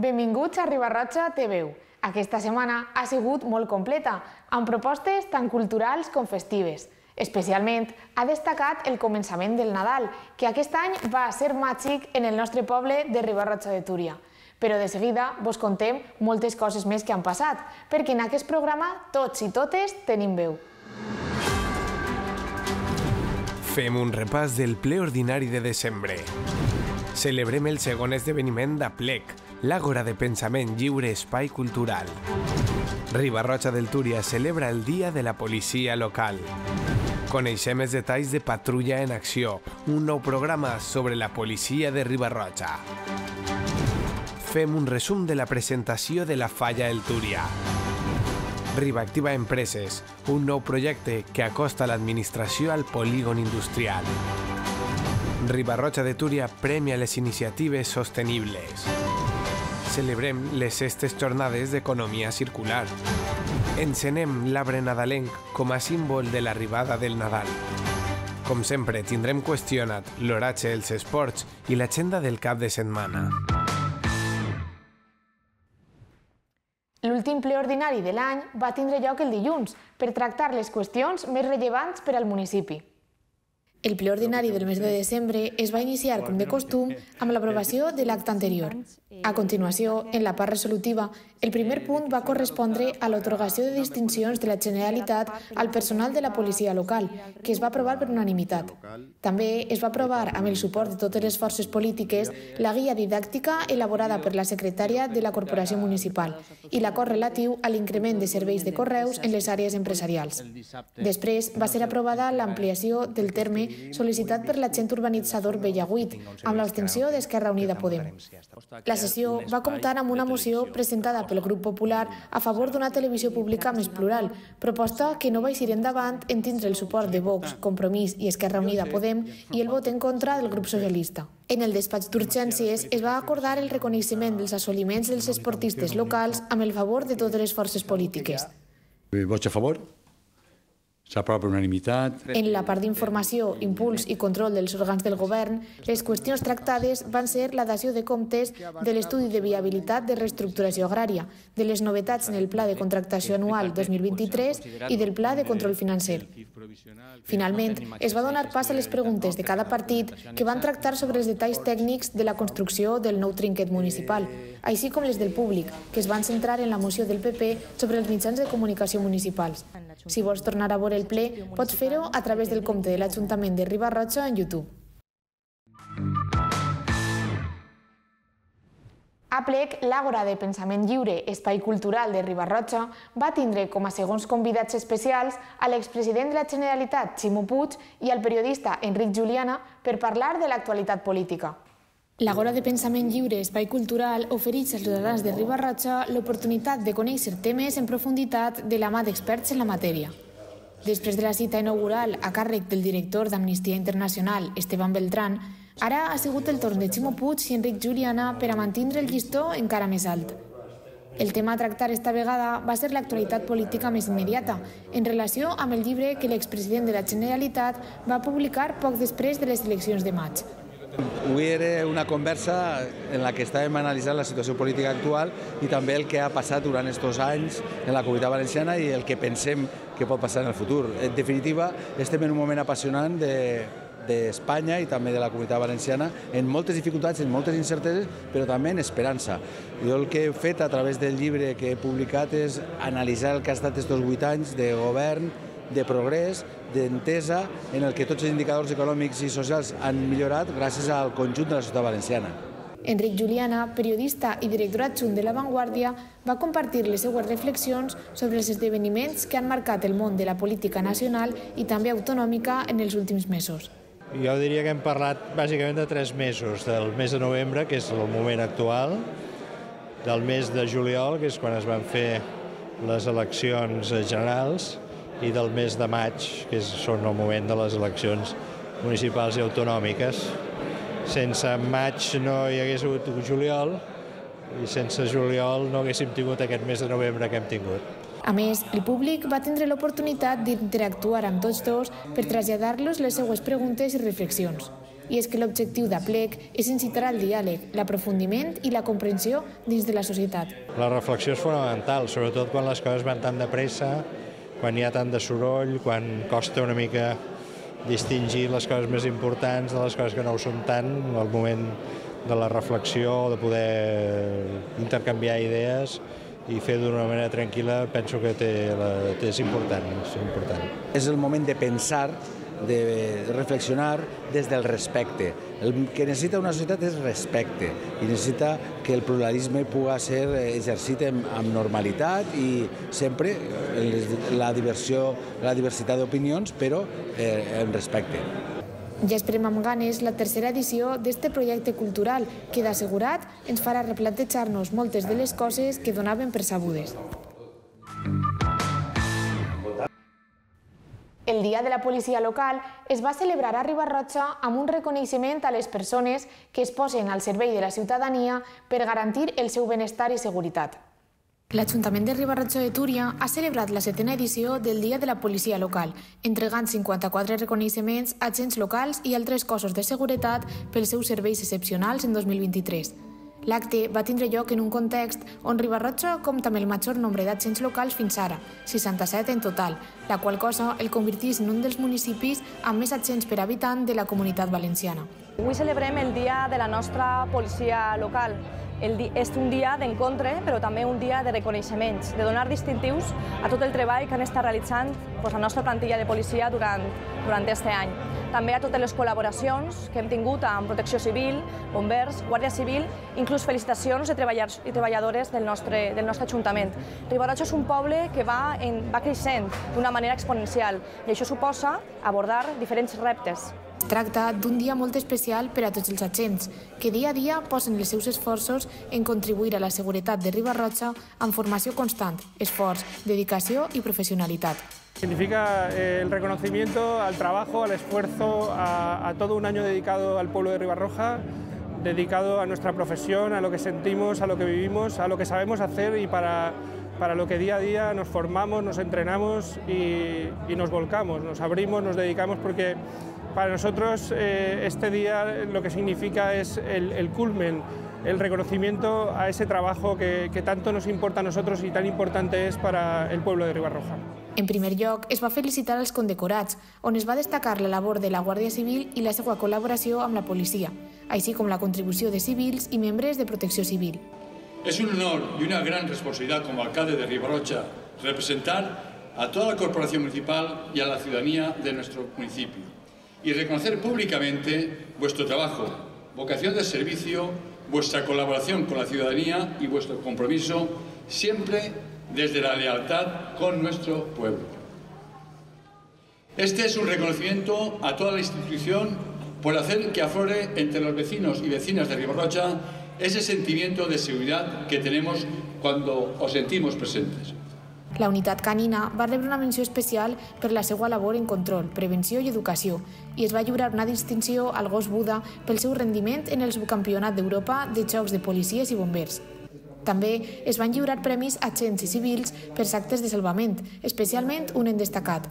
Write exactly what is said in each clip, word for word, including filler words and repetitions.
Benvinguts a Riba-roja Té Veu. Aquesta setmana ha sigut molt completa, amb propostes tant culturals com festives. Especialment ha destacat el començament del Nadal, que aquest any va ser màgic en el nostre poble de Riba-roja de Túria. Però de seguida vos contem moltes coses més que han passat, perquè en aquest programa tots i totes tenim veu. Fem un repàs del ple ordinari de desembre. Celebrem el segon esdeveniment d'Aplec, l'Àgora de Pensament Lliure Espai Cultural. Riba-roja del Túria celebra el Dia de la Policia Local. Coneixem els detalls de Patrulla en Acció, un nou programa sobre la policia de Riba-roja. Fem un resum de la presentació de la Falla El Túria. Riba-activa Empreses, un nou projecte que acosta l'administració al polígon industrial. Riba-roja de Túria premia les iniciatives sostenibles. Celebrem les sextes jornades d'economia circular. Encenem l'arbre nadalenc com a símbol de l'arribada del Nadal. Com sempre, tindrem qüestionat l'horatge dels esports i l'agenda del cap de setmana. L'últim ple ordinari de l'any va tindre lloc el dilluns per tractar les qüestions més rellevants per al municipi. El ple ordinari del mes de desembre es va iniciar, com de costum, amb l'aprovació de l'acte anterior. A continuació, en la part resolutiva, el primer punt va correspondre a l'atorgació de distincions de la Generalitat al personal de la policia local, que es va aprovar per unanimitat. També es va aprovar, amb el suport de totes les forces polítiques, la guia didàctica elaborada per la secretària de la Corporació Municipal i l'acord relatiu a l'increment de serveis de correus en les àrees empresarials. Després va ser aprovada l'ampliació del terme sol·licitat per l'agent urbanitzador Bellaguit, amb l'abstenció d'Esquerra Unida Podem. La sessió va comptar amb una moció presentada pel Grup Popular a favor d'una televisió pública més plural, proposta que no va eixir endavant en tindre el suport de Vox, Compromís i Esquerra Unida Podem i el vot en contra del grup socialista. En el despatx d'urgències es va acordar el reconeixement dels assoliments dels esportistes locals amb el favor de totes les forces polítiques. Vots a favor? S'aprova per unanimitat. En la part d'informació, impuls i control dels òrgans del govern, les qüestions tractades van ser la dació de comptes de l'estudi de viabilitat de reestructuració agrària, de les novetats en el Pla de Contractació Anual dos mil vint-i-tres i del Pla de Control Financer. Finalment, es va donar pas a les preguntes de cada partit que van tractar sobre els detalls tècnics de la construcció del nou trinquet municipal, així com les del públic, que es van centrar en la moció del P P sobre els mitjans de comunicació municipals. Si vols tornar a veure el ple, pots fer-ho a través del compte de l'Ajuntament de Riba-roja en YouTube. Aplec, l'Àgora de Pensament Lliure Espai Cultural de Riba-roja, va tindre com a segons convidats especials a l'expresident de la Generalitat, Ximo Puig, i al periodista Enric Juliana per parlar de l'actualitat política. L'Àgora de Pensament Lliure Espai Cultural ofereix als ciutadans de Riba-roja l'oportunitat de conèixer temes en profunditat de la mà d'experts en la matèria. Després de la cita inaugural a càrrec del director d'Amnistia Internacional, Esteban Beltrán, ara ha sigut el torn de Ximo Puig i Enric Juliana per a mantindre el llistó encara més alt. El tema a tractar esta vegada va ser l'actualitat política més immediata, en relació amb el llibre que l'expresident de la Generalitat va publicar poc després de les eleccions de maig. Avui era una conversa en la que estàvem analitzant la situació política actual i també el que ha passat durant aquests anys en la Comunitat Valenciana i el que pensem que pot passar en el futur. En definitiva, estem en un moment apassionant d'Espanya i també de la Comunitat Valenciana, en moltes dificultats, en moltes incerteses, però també en esperança. Jo el que he fet a través del llibre que he publicat és analitzar el que ha estat aquests vuit anys de govern, de progrés, d'entesa, en el que tots els indicadors econòmics i socials han millorat gràcies al conjunt de la societat valenciana. Enric Juliana, periodista i director adjunt de La Vanguardia, va compartir les seues reflexions sobre els esdeveniments que han marcat el món de la política nacional i també autonòmica en els últims mesos. Jo diria que hem parlat bàsicament de tres mesos, del mes de novembre, que és el moment actual, del mes de juliol, que és quan es van fer les eleccions generals, i del mes de maig, que són el moment de les eleccions municipals i autonòmiques. Sense maig no hi hagués hagut juliol i sense juliol no haguéssim tingut aquest mes de novembre que hem tingut. A més, el públic va tindre l'oportunitat d'interactuar amb tots dos per traslladar-los les seues preguntes i reflexions. i és que l'objectiu d'Aplec és incitar al diàleg, l'aprofundiment i la comprensió dins de la societat. La reflexió és fonamental, sobretot quan les coses van tan de pressa, quan hi ha tant de soroll, quan costa una mica distingir les coses més importants de les coses que no ho són tant, el moment de la reflexió, de poder intercanviar idees i fer d'una manera tranquil·la, penso que té, la, té, és important, és important. És el moment de pensar, de reflexionar des del respecte. El que necessita una societat és respecte i necessita que el pluralisme pugui ser exercit amb normalitat i sempre la diversió, la diversitat d'opinions, però eh, amb respecte. Ja esperem amb ganes la tercera edició d'este projecte cultural que, d'assegurat, ens farà replantejar-nos moltes de les coses que donaven per sabudes. El Dia de la Policia Local es va celebrar a Riba-roja amb un reconeixement a les persones que es posen al servei de la ciutadania per garantir el seu benestar i seguretat. L'Ajuntament de Riba-roja de Túria ha celebrat la setena edició del Dia de la Policia Local, entregant cinquanta-quatre reconeixements a agents locals i altres cossos de seguretat pels seus serveis excepcionals en dos mil vint-i-tres. L'acte va tindre lloc en un context on Riba-roja compta amb el major nombre d'agents locals fins ara, seixanta-set en total, la qual cosa el converteix en un dels municipis amb més agents per habitant de la Comunitat Valenciana. Avui celebrem el dia de la nostra policia local. El di és un dia d'encontre, però també un dia de reconeixements, de donar distintius a tot el treball que han estat realitzant doncs, la nostra plantilla de policia durant, durant aquest any. També a totes les col·laboracions que hem tingut amb Protecció Civil, Bombers, Guàrdia Civil, inclús felicitacions de treballadors i treballadores del nostre, del nostre Ajuntament. Riba-roja és un poble que va, en, va creixent d'una manera exponencial i això suposa abordar diferents reptes. Es tracta d'un dia molt especial per a tots els agents, que dia a dia posen els seus esforços en contribuir a la seguretat de Riba-roja amb formació constant, esforç, dedicació i professionalitat. Significa eh, el reconocimiento al trabajo, al esfuerzo, a, a todo un año dedicado al pueblo de Riba-roja, dedicado a nuestra profesión, a lo que sentimos, a lo que vivimos, a lo que sabemos hacer y para, para lo que día a día nos formamos, nos entrenamos y, y nos volcamos, nos abrimos, nos dedicamos porque para nosotros eh, este día lo que significa es el, el culmen, el reconocimiento a ese trabajo que, que tanto nos importa a nosotros y tan importante es para el pueblo de Riba-roja. En primer lloc, es va felicitar als condecorats, on es va destacar la labor de la Guàrdia Civil i la seva col·laboració amb la policia, així com la contribució de civils i membres de Protecció Civil. Es un honor y una gran responsabilidad como alcalde de Riba-roja representar a toda la corporación municipal y a la ciudadanía de nuestro municipio y reconocer públicamente vuestro trabajo, vocación de servicio, vuestra colaboración con la ciudadanía y vuestro compromiso siempre desde la lealtad con nuestro pueblo. Este es un reconocimiento a toda la institución por hacer que aflore entre los vecinos y vecinas de Riba-roja ese sentimiento de seguridad que tenemos cuando os sentimos presentes. La unitat canina va rebre una menció especial per la seva labor en control, prevenció i educació i es va lliurar una distinció al gos Buda pel seu rendiment en el subcampionat d'Europa de jocs de policies i bombers. També es van lliurar premis a agents i civils per actes de salvament, especialment un en destacat.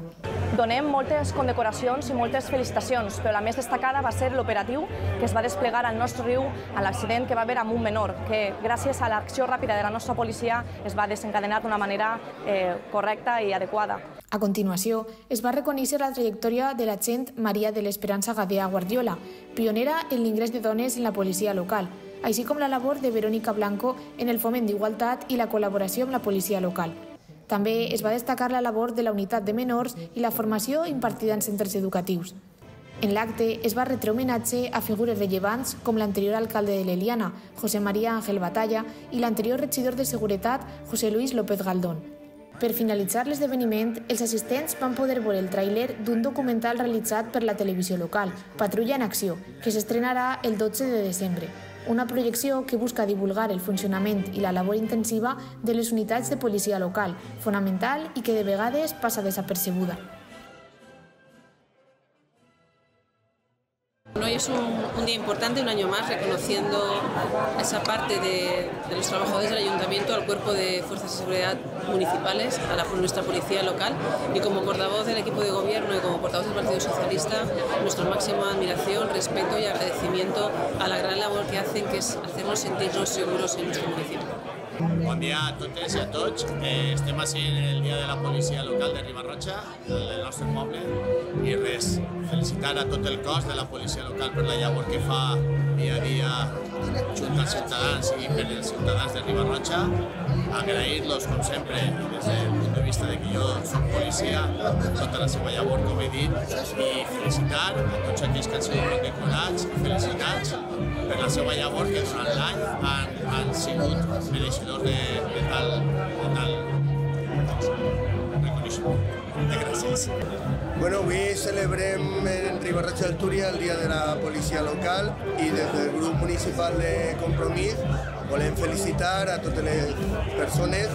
Donem moltes condecoracions i moltes felicitacions, però la més destacada va ser l'operatiu que es va desplegar al nostre riu a l'accident que va haver amb un menor, que gràcies a l'acció ràpida de la nostra policia es va desencadenar d'una manera eh, correcta i adequada. A continuació, es va reconèixer la trajectòria de l'agent Maria de l'Esperança Gadea Guardiola, pionera en l'ingrés de dones en la policia local, així com la labor de Verónica Blanco en el foment d'igualtat i la col·laboració amb la policia local. També es va destacar la labor de la unitat de menors i la formació impartida en centres educatius. En l'acte es va retre homenatge a figures rellevants com l'anterior alcalde de l'Eliana, José María Ángel Batalla, i l'anterior regidor de Seguretat, José Luis López Galdón. Per finalitzar l'esdeveniment, els assistents van poder veure el tràiler d'un documental realitzat per la televisió local, Patrulla en Acció, que s'estrenarà el dotze de desembre. Una projecció que busca divulgar el funcionament i la labor intensiva de les unitats de policia local, fonamental i que de vegades passa desapercebuda. No hi es un, un día importante, un año más, reconociendo esa parte de, de los trabajadores del Ayuntamiento, al Cuerpo de Fuerzas de Seguridad Municipales, a la, nuestra policía local, y como portavoz del equipo de gobierno y como portavoz del Partido Socialista, nuestra máxima admiración, respeto y agradecimiento a la gran labor que hacen, que es hacernos sentirnos seguros en nuestro municipio. Bon dia a totes i a tots. Eh, estem així en el dia de la policia local de Riba-roja, del nostre poble, i res, felicitar a tot el cos de la policia local per la llavor que fa dia a dia junt als ciutadans i per als ciutadans de Riba-roja, agrair-los, com sempre, des del punt de vista de que jo soc policia, tota la seva llavor, com he dit, i felicitar a tots aquells que han sigut condecorats i felicitats per la seva llavor que durant l'any han, han sigut mereixedors de, de tal, de tal reconeixement. De gràcies. Bueno, avui celebrem en Riba-roja del Túria el Dia de la Policia Local i des del grup municipal de Compromís volem felicitar a totes les persones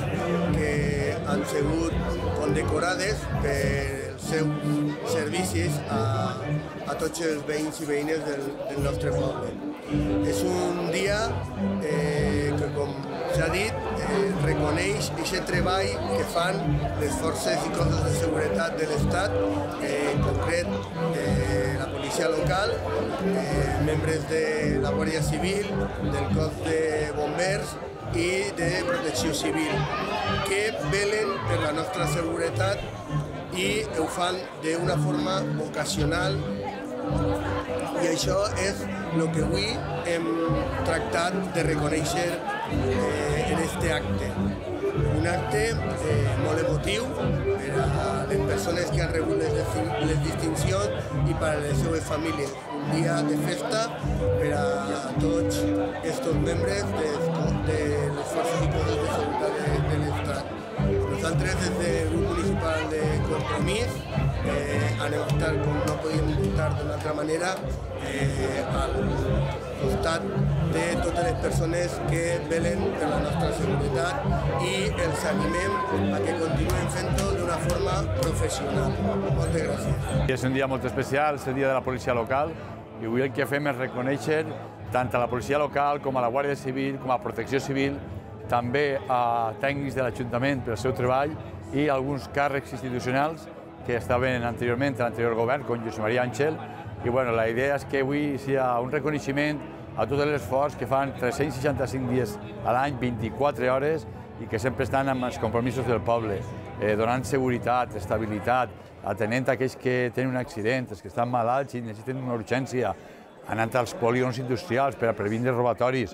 que han sigut condecorades per els seus servicis a, a tots els veïns i veïnes del, del nostre poble. És un dia eh, que, com s'ha dit, eh, reconeix aquest treball que fan les forces i cossos de seguretat de l'Estat, eh, en concret eh, la policia local, eh, membres de la Guàrdia Civil, del cos de bombers i de protecció civil, que velen per la nostra seguretat i ho fan d'una forma ocasional, i això és el que avui hem tractat de reconèixer eh, en aquest acte. Un acte eh, molt emotiu per a les persones que han rebut les, les distincions i per a les seves famílies. Un dia de festa per a tots aquests membres de, de les forces i cossos de seguretat de, de l'Estat. Nosaltres, des del grup municipal de Compromís, eh, anem a estar, com no podíem estar d'una altra manera, eh, al costat de totes les persones que velen per la nostra seguretat i els animem a que continuem fent-ho d'una forma professional. Moltes gràcies. És un dia molt especial, és el dia de la policia local, i avui el que fem és reconèixer tant a la policia local com a la Guàrdia Civil, com a Protecció Civil, també a tècnics de l'Ajuntament pel seu treball i alguns càrrecs institucionals que estaven anteriorment a l'anterior govern, com Josep Maria Àngel. I bueno, la idea és que avui sigui un reconeixement a tot l'esforç que fan tres-cents seixanta-cinc dies a l'any, vint-i-quatre hores, i que sempre estan amb els compromisos del poble, eh, donant seguretat, estabilitat, atenent aquells que tenen un accident, els que estan malalts i necessiten una urgència, anant als polígons industrials per a previndre robatoris,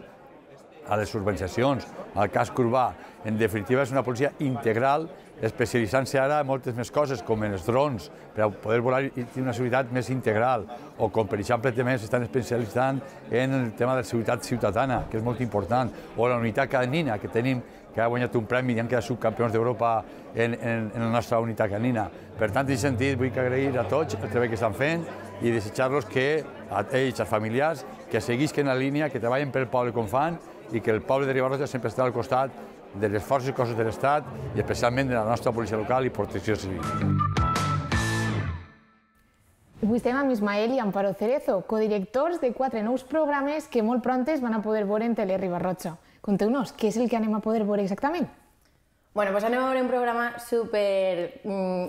a les urbanitzacions, al casc urbà. En definitiva, és una policia integral, especialitzant-se ara en moltes més coses, com en els drons, per a poder volar i tenir una seguretat més integral, o com, per exemple, també s'estan especialitzant en el tema de la seguretat ciutadana, que és molt important, o la unitat canina, que tenim, que ha guanyat un premi i han quedat subcampions d'Europa en, en, en la nostra unitat canina. Per tant, en aquest sentit, vull agrair a tots el treball que estan fent i desitjar-los que, a ells, als familiars, que seguisquen la línia, que treballen pel poble com fan, i que el poble de Riba-roja sempre estarà al costat de les forces i cossos de l'Estat i especialment de la nostra policia local i protecció civil. Avui estem amb Ismael i Amparo Cerezo, codirectors de quatre nous programes que molt prontes van a poder veure en Tele Riba-roja. Conteu-nos, què és el que anem a poder veure exactament? Bueno, doncs anem a veure un programa super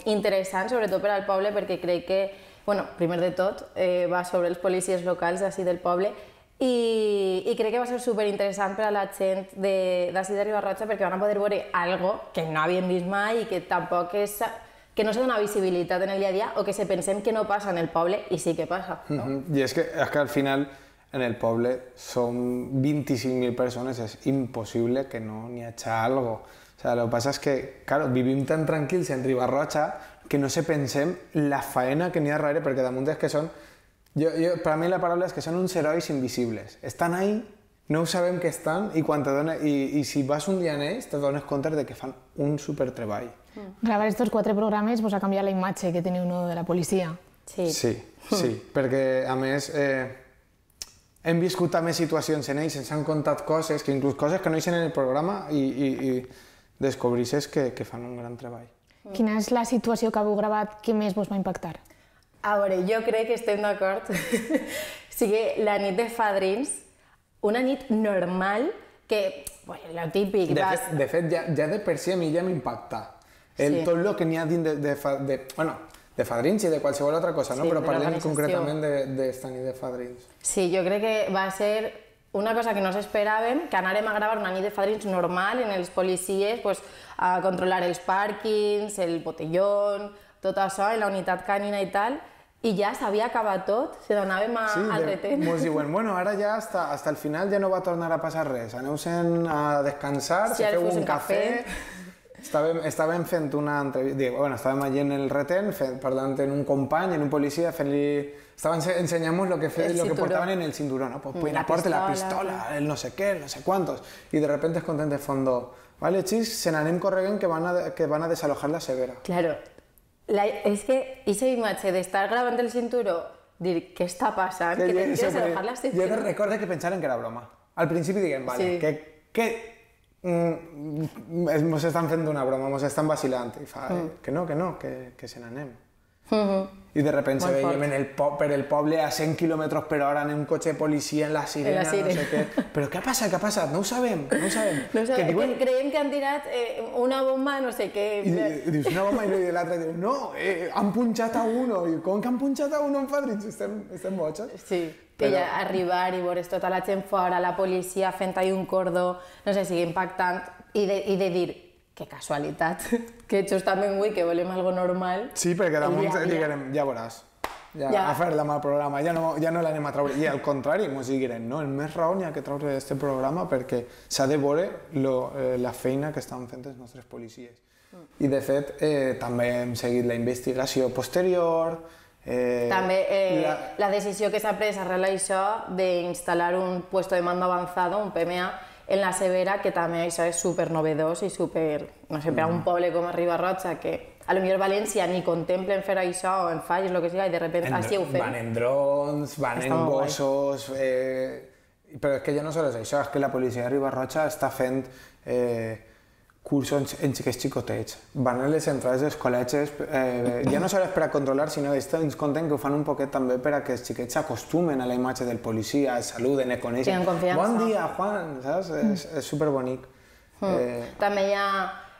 interessant, sobretot per al poble, perquè crec que, bueno, primer de tot, eh, va sobre els policies locals d'ací del poble, I, i crec que va ser superinteressant per a la gent d'ací de Riba-roja perquè van a poder veure algo que no havíem vist mai i que tampoc és, que no se dona visibilitat en el dia a dia o que se pensem que no passa en el poble i sí que passa. No? Mm-hmm. I és que, és que al final en el poble són vint-i-cinc mil persones, és impossible que no n'hi hagi algo. O sea, lo que pasa es que, claro, vivim tan tranquils en Riba-roja que no se pensem la faena que n'hi ha darrere, perquè damunt és que són Yo, yo, para mí la palabra es que son uns herois invisibles. Están ahí, no sabem que estan, i, quan te dona, i, i si vas un dia en ells te dones compte de que fan un supertreball. Mm. Gravar estos quatre programes vos ha canviat la imatge que teniu no de la policia. Sí, sí, sí perquè a més eh, hem viscut també situacions en ells, ens han contat coses, que inclús coses que no eixen en el programa i, i, i descobrisses que, que fan un gran treball. Mm. Quina és la situació que heu gravat que més vos va impactar? A veure, jo crec que estem d'acord. sigui, la nit de fadrins, una nit normal que, pues, lo típic... De vas... fet, de fet ja, ja de per si a mi ja m'impacta. El, sí. Tot el que n'hi ha dins de, de, de, bueno, de fadrins i de qualsevol altra cosa, no? Sí, però parlem concretament d'esta nit de fadrins. Sí, jo crec que va ser una cosa que no s'esperàvem, que anàrem a gravar una nit de fadrins normal en els policies, pues, a controlar els pàrquings, el botellón, tot això, en la unitat canina i tal, i ja s'havia acabat tot, se n'anàvem sí, al retén. Ens diuen, bueno, ara ja hasta, hasta el final ja no va tornar a passar res, aneu-se'n a descansar, sí, se feu un cafè... Estàvem, estàvem fent una entrevista, bueno, estàvem allí en el retén, fent, parlant amb un company, en un policia, fent-li... Estaven ensenyant-nos lo que, fe, lo que portaven en el cinturó, ¿no? Pues, pues aporte la pistola, el no sé qué, el no sé cuántos. Y de repente es content de fondo, vale, chis, se n'anem correguen que van a, que van a desalojar la Severa. Claro. La, és que aquesta imatge d'estar gravant el cinturó, dir, què està passant? Que, que tens que desalojar la Severa. Jo recordo que pensaren que era broma. Al principi diguem, vale, sí. que, que mm, mos estan fent una broma, mos estan vacilant. I fa, mm. que no, que no, que, que se n'anem. Mm-hmm. I de repente se veiem en el po per el poble a cent quilòmetres per hora en un cotxe de policia, en la sirena, en la sirena. No sé què. Però què ha passat, què ha passat? No ho sabem, no ho sabem. No ho sabem. Que diuen... Creiem que han tirat eh, una bomba, no sé què. I, i dius una bomba i l'altre diu, no, eh, han punxat a uno. I com que han punxat a uno en fadrins? Estem, estem botxos. Sí, que però... ja arribar i veure tota la gent fora, la policia fent ahí un cordó, no sé, sigui impactant, i de, i de dir, que casualitat, que justament avui que volem algo normal... Sí, perquè damunt diguem, ja veuràs, ja, ja. a fer-la amb el programa, ja no, ja no l'anem a treure. I al contrari, ens diguem, no, el més raó n'hi ha que treure d'aquest programa perquè s'ha de veure lo, eh, la feina que estan fent els nostres policies. Mm. I de fet, eh, també hem seguit la investigació posterior... Eh, també eh, la... la decisió que s'ha pres arrel d'això d'instal·lar un puesto de mando avanzado, un P M A, en la Severa, que també això és super novedós i super, no sé, per a un poble com a Riba-roja, que a lo millor València ni contemplen fer això o en falles, el que sigui, i de repente així ho fem. Van en drons, van en gossos... Eh, però és que ja no sols això, és que la policia de Riba-roja està fent eh, cursos en xiquets xicotets. Van a les entrades dels col·legis, eh, ja no sols per a controlar, sinó que ens compten que ho fan un poquet també per a que els xiquets s'acostumen a la imatge del policia, es saluden, es coneixen. Bon dia, Juan, saps? Mm. És, és superbonic. Mm. Eh... També ja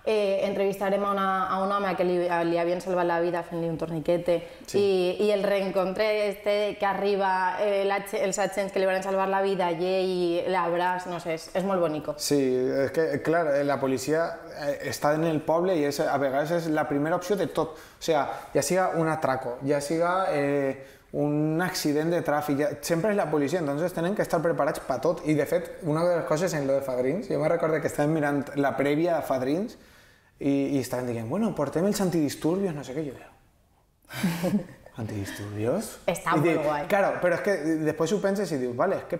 eh, entrevistarem a, una, a un home que li, li havien salvat la vida fent-li un torniquete, sí. i, i el reencontre este que arriba, eh, la, els agents que li van salvar la vida i ell l'abraç, no sé, és, és molt bonico. Sí, és que, clar, la policia està en el poble i és, a vegades és la primera opció de tot. O sigui, ja siga un atraco, ja siga eh, un accident de tràfic, ja, sempre és la policia, entonces tenen que estar preparats per tot. I de fet, una de les coses en lo de Fadrins, jo me recordo que estàvem mirant la prèvia a Fadrins i, i estaven dient, bueno, portem els antidisturbios, no sé què, jo diu. ¿Antidisturbios? Està molt diu, guai. Claro, però és que després ho penses i dius, vale, és que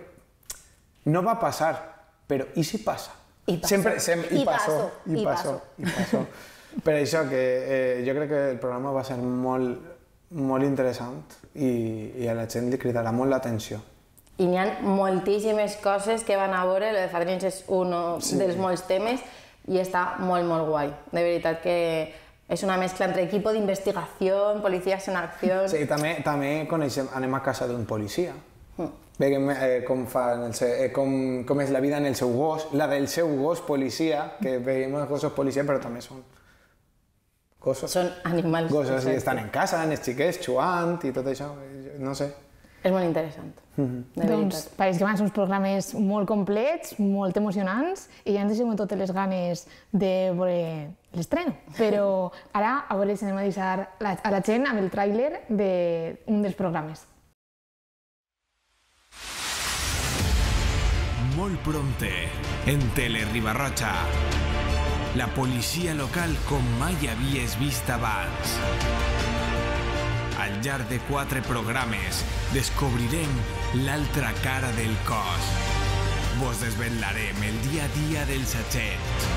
no va passar, però i si passa? I passó. Sempre, sempre, I, i passó. I, I passó. I passó. Per això que eh, jo crec que el programa va ser molt, molt interessant i, i a la gent li cridarà molt l'atenció. I n'hi ha moltíssimes coses que van a veure, el de Fadrins és un sí. dels molts temes i està molt, molt guai. De veritat que és una mescla entre equipo d'investigació, policies en acció... Sí, també, també coneixem, anem a casa d'un policia. Mm. Veiem eh, com, fa en el seu, eh, com, com és la vida en el seu gos, la del seu gos policia, que veiem els gossos policia, però també són gossos. Són animals. Gossos i estan en casa, els xiquets, jugant i tot això, no sé. És molt interessant. Mm-hmm. Doncs pareix que van ser uns programes molt complets, molt emocionants i ja ens deixem totes les ganes de veure l'estreno. Però ara a veure si anem a deixar a la gent amb el tràiler d'un dels programes. Molt prompte, en Tele Riba-roja, la policia local com mai havies vist abans. Al llarg de quatre programes descobrirem l'altra cara del cos. Vos desvetlarem el dia a dia dels agents.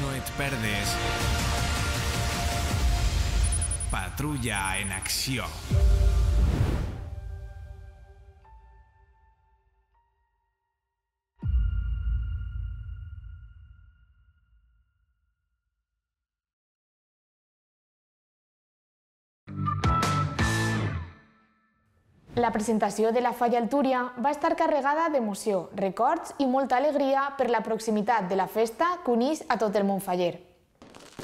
No et perdes Patrulla en acció. La presentació de la Falla al Túria va estar carregada d'emoció, records i molta alegria per la proximitat de la festa que uneix a tot el món faller.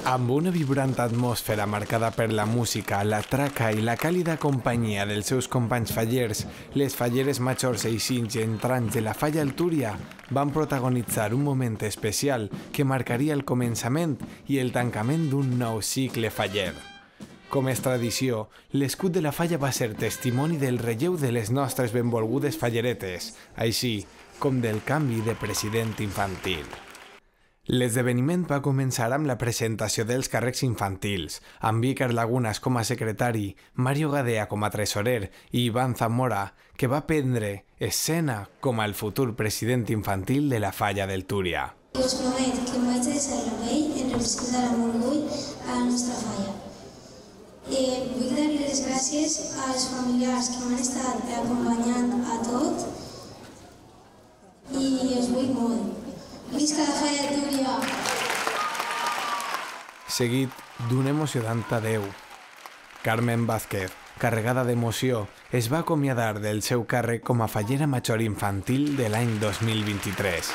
Amb una vibrant atmosfera marcada per la música, la traca i la càlida companyia dels seus companys fallers, les falleres majors eixins i entrants de la Falla al Túria van protagonitzar un moment especial que marcaria el començament i el tancament d'un nou cicle faller. Com és tradició, l'escut de la falla va ser testimoni del relleu de les nostres benvolgudes falleretes, així com del canvi de president infantil. L'esdeveniment va començar amb la presentació dels càrrecs infantils, amb Vícar Lagunas com a secretari, Mario Gadea com a tresorer i Iván Zamora, que va prendre escena com el futur president infantil de la Falla del Túria. Us promet que em vaig deixar la pell en representar amb orgull a la nostra falla. Eh, vull dar les gràcies als familiars que m'han estat acompanyant a tot i us vull molt. Visca la Falla del Túria! Seguit d'un emocionant adeu. Carmen Vázquez, carregada d'emoció, es va acomiadar del seu càrrec com a fallera major infantil de l'any dos mil vint-i-tres.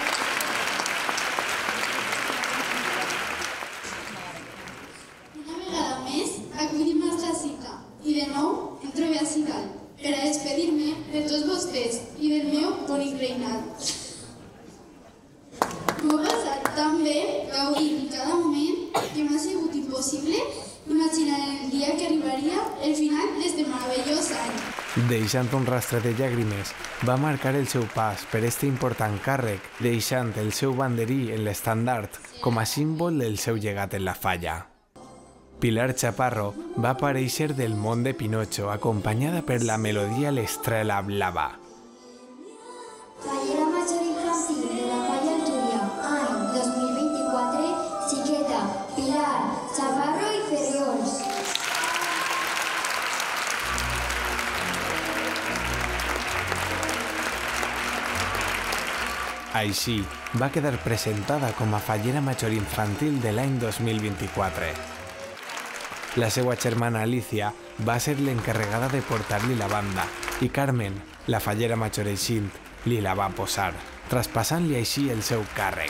Una vegada més acudim a nostra cita i de nou em trobo ací dalt per a despedir-me de tots vostès i del meu bonic reinat. M'ho he passat tan bé, gaudint cada moment, que m'ha sigut impossible imaginar el dia que arribaria el final d'este meravellós any. Deixant un rastre de llàgrimes, va marcar el seu pas per este important càrrec, deixant el seu banderí en l'estandard com a símbol del seu llegat en la falla. Pilar Chaparro va aparèixer del món de Pinocho, acompanyada per la melodia L'Estrella Blava. Fallera major infantil de la Falla al Túria, any dos mil vint-i-quatre, xiqueta, Pilar, Chaparro i Ferriols. Així, va quedar presentada com a fallera major infantil de l'any dos mil vint-i-quatre. La seva germana Alicia va ser l'encarregada de portar-li la banda i Carmen, la fallera major eixint, li la va posar, traspassant-li així el seu càrrec.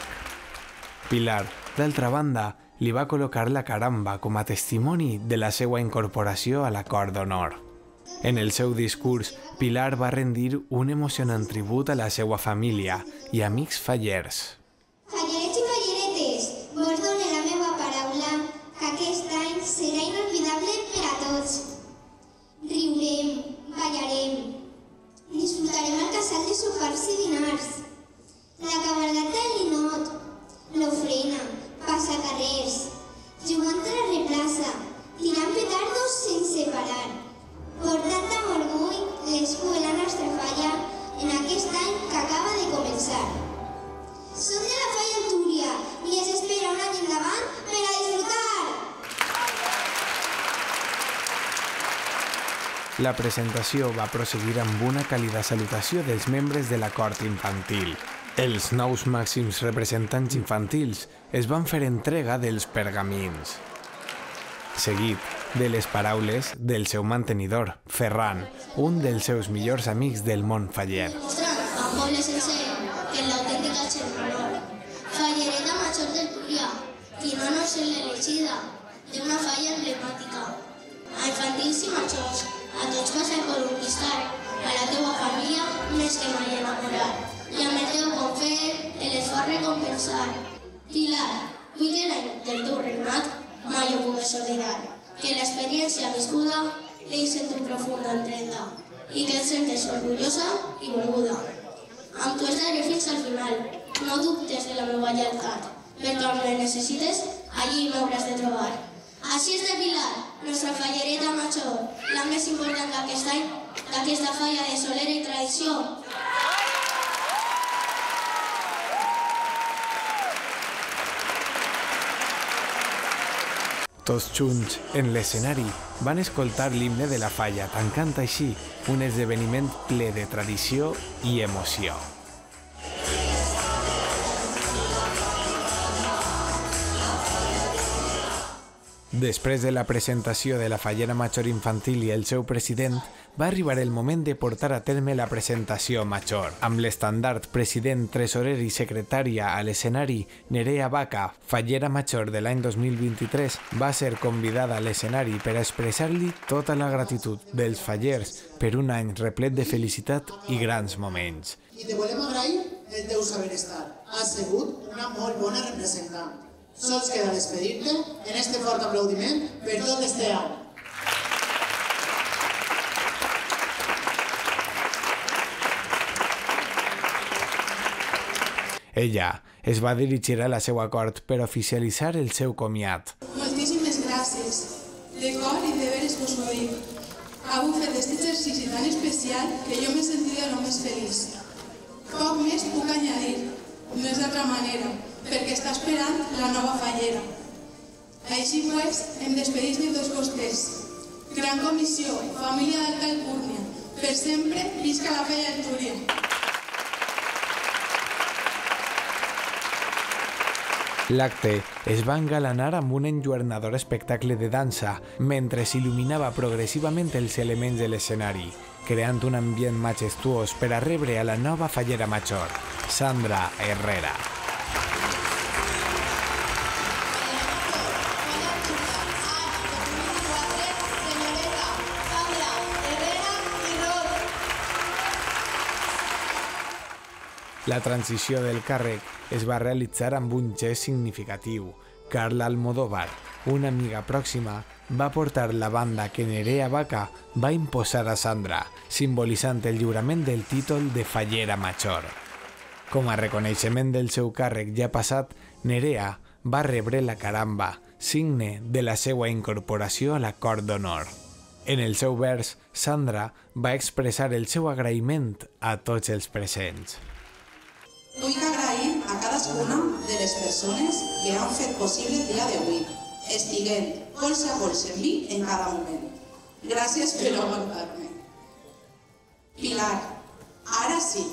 Pilar, d'altra banda, li va col·locar la caramba com a testimoni de la seva incorporació a la cort d'honor. En el seu discurs, Pilar va rendir un emocionant tribut a la seva família i amics fallers. Fallerets i falleretes, vos dono la meva paraula que aquest any serà inolvidable per a tots. Riurem, ballarem, disfrutarem el casal de sopars i dinars, la cabalgata del ninot, l'ofrena, passacarrers, jugant a la replaça, tirant petardos sense parar, portant amb orgull l'escut de la nostra falla en aquest any que acaba de començar. Som de la Falla al Túria i es espera un any endavant per a disfrutar! La presentació va proseguir amb una càlida salutació dels membres de la cort infantil. Els nous màxims representants infantils es van fer entrega dels pergamins. Seguit de les paraules del seu mantenidor, Ferran, un dels seus millors amics del món faller. Mostrant al poble sencer que en l'autèntica Xermanor, fallereta major del Túria, qui no no ser l'elegida d'una falla emblemàtica. A infantils i majors, a tots vas a conquistar, a la teua família més que mai enamorar, i amb el teu confer l'esforç recompensar. Pilar, vull que l'any del teu regnat mai ho pugues oblidar, que l'experiència viscuda deixa en tu profunda empremta i que et sentes orgullosa i volguda. Amb tu estaré fins al final, no dubtes de la meva lleialtat, perquè quan me necessites, allí m'hauràs de trobar. Així és de Pilar, nostra fallereta major, la més important d'aquest any, d'aquesta falla de solera i tradició. Tots junts, en l'escenari, van escoltar l'himne de la falla, tancant així un esdeveniment ple de tradició i emoció. Després de la presentació de la Fallera Major Infantil i el seu president, va arribar el moment de portar a terme la presentació major. Amb l'estandard president, tresorer i secretària a l'escenari, Nerea Vaca, Fallera Major de l'any dos mil vint-i-tres, va ser convidada a l'escenari per a expressar-li tota la gratitud dels fallers per un any replet de felicitat i grans moments. I te volem agrair el teu saber estar. Has sigut una molt bona representant. Sols queda despedir-te en este fort aplaudiment per tot este any. Ella es va dirigir a la seva cort per oficialitzar el seu comiat. Moltíssimes gràcies. De cor i de veres vos ho dic. Heu fet aquest exercici tan especial que jo m'he sentit de lo més feliç. Poc més puc añadir, no és d'altra manera, perquè està esperant la nova fallera. Així pues, em despedís de tots vostès. Gran comissió, família d'Alta Alcúrnia, per sempre visca la Falla del Túria. L'acte es va engalanar amb un enlluernador espectacle de dansa, mentre s'il·luminava progressivament els elements de l'escenari, creant un ambient majestuós per a rebre a la nova Fallera Major, Sandra Herrera. La transició del càrrec es va realitzar amb un gest significatiu. Carla Almodóvar, una amiga pròxima, va portar la banda que Nerea Vaca va imposar a Sandra, simbolitzant el lliurament del títol de Fallera Major. Com a reconeixement del seu càrrec ja passat, Nerea va rebre la caramba, signe de la seva incorporació a la Cort d'Honor. En el seu vers, Sandra va expressar el seu agraïment a tots els presents. Vull agrair a cadascuna de les persones que han fet possible el dia d'avui, estiguent colze a colze amb mi en cada moment. Gràcies per aguantar-me. Pilar, ara sí,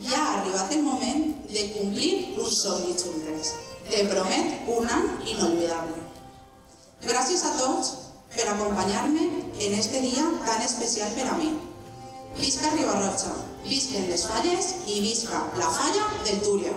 ja ha arribat el moment de complir un somni juntes. Te promet un any inolvidable. Gràcies a tots per acompanyar-me en este dia tan especial per a mi. Visca Ribarroja, visquen les falles i visca la Falla del Túria.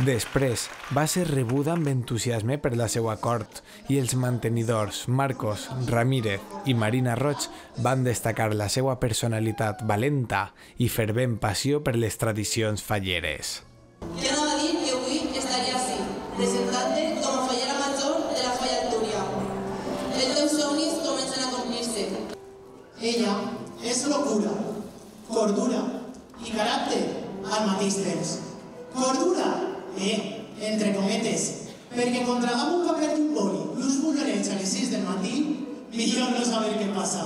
Després va ser rebuda amb entusiasme per la seva cort i els mantenidors Marcos, Ramírez i Marina Roig van destacar la seva personalitat valenta i fervent passió per les tradicions falleres. Jo no va dir que avui estaria així, presentant-te com a Fallera Major de la Falla del Túria. Els teus somnis comencen a complir-se. Ella és locura, cordura i caràcter al mateix temps. Cordura, eh, entre cometes, perquè quan tragam un paper d'un boli i uns bollerets a les sis del matí, millor no saber què passa.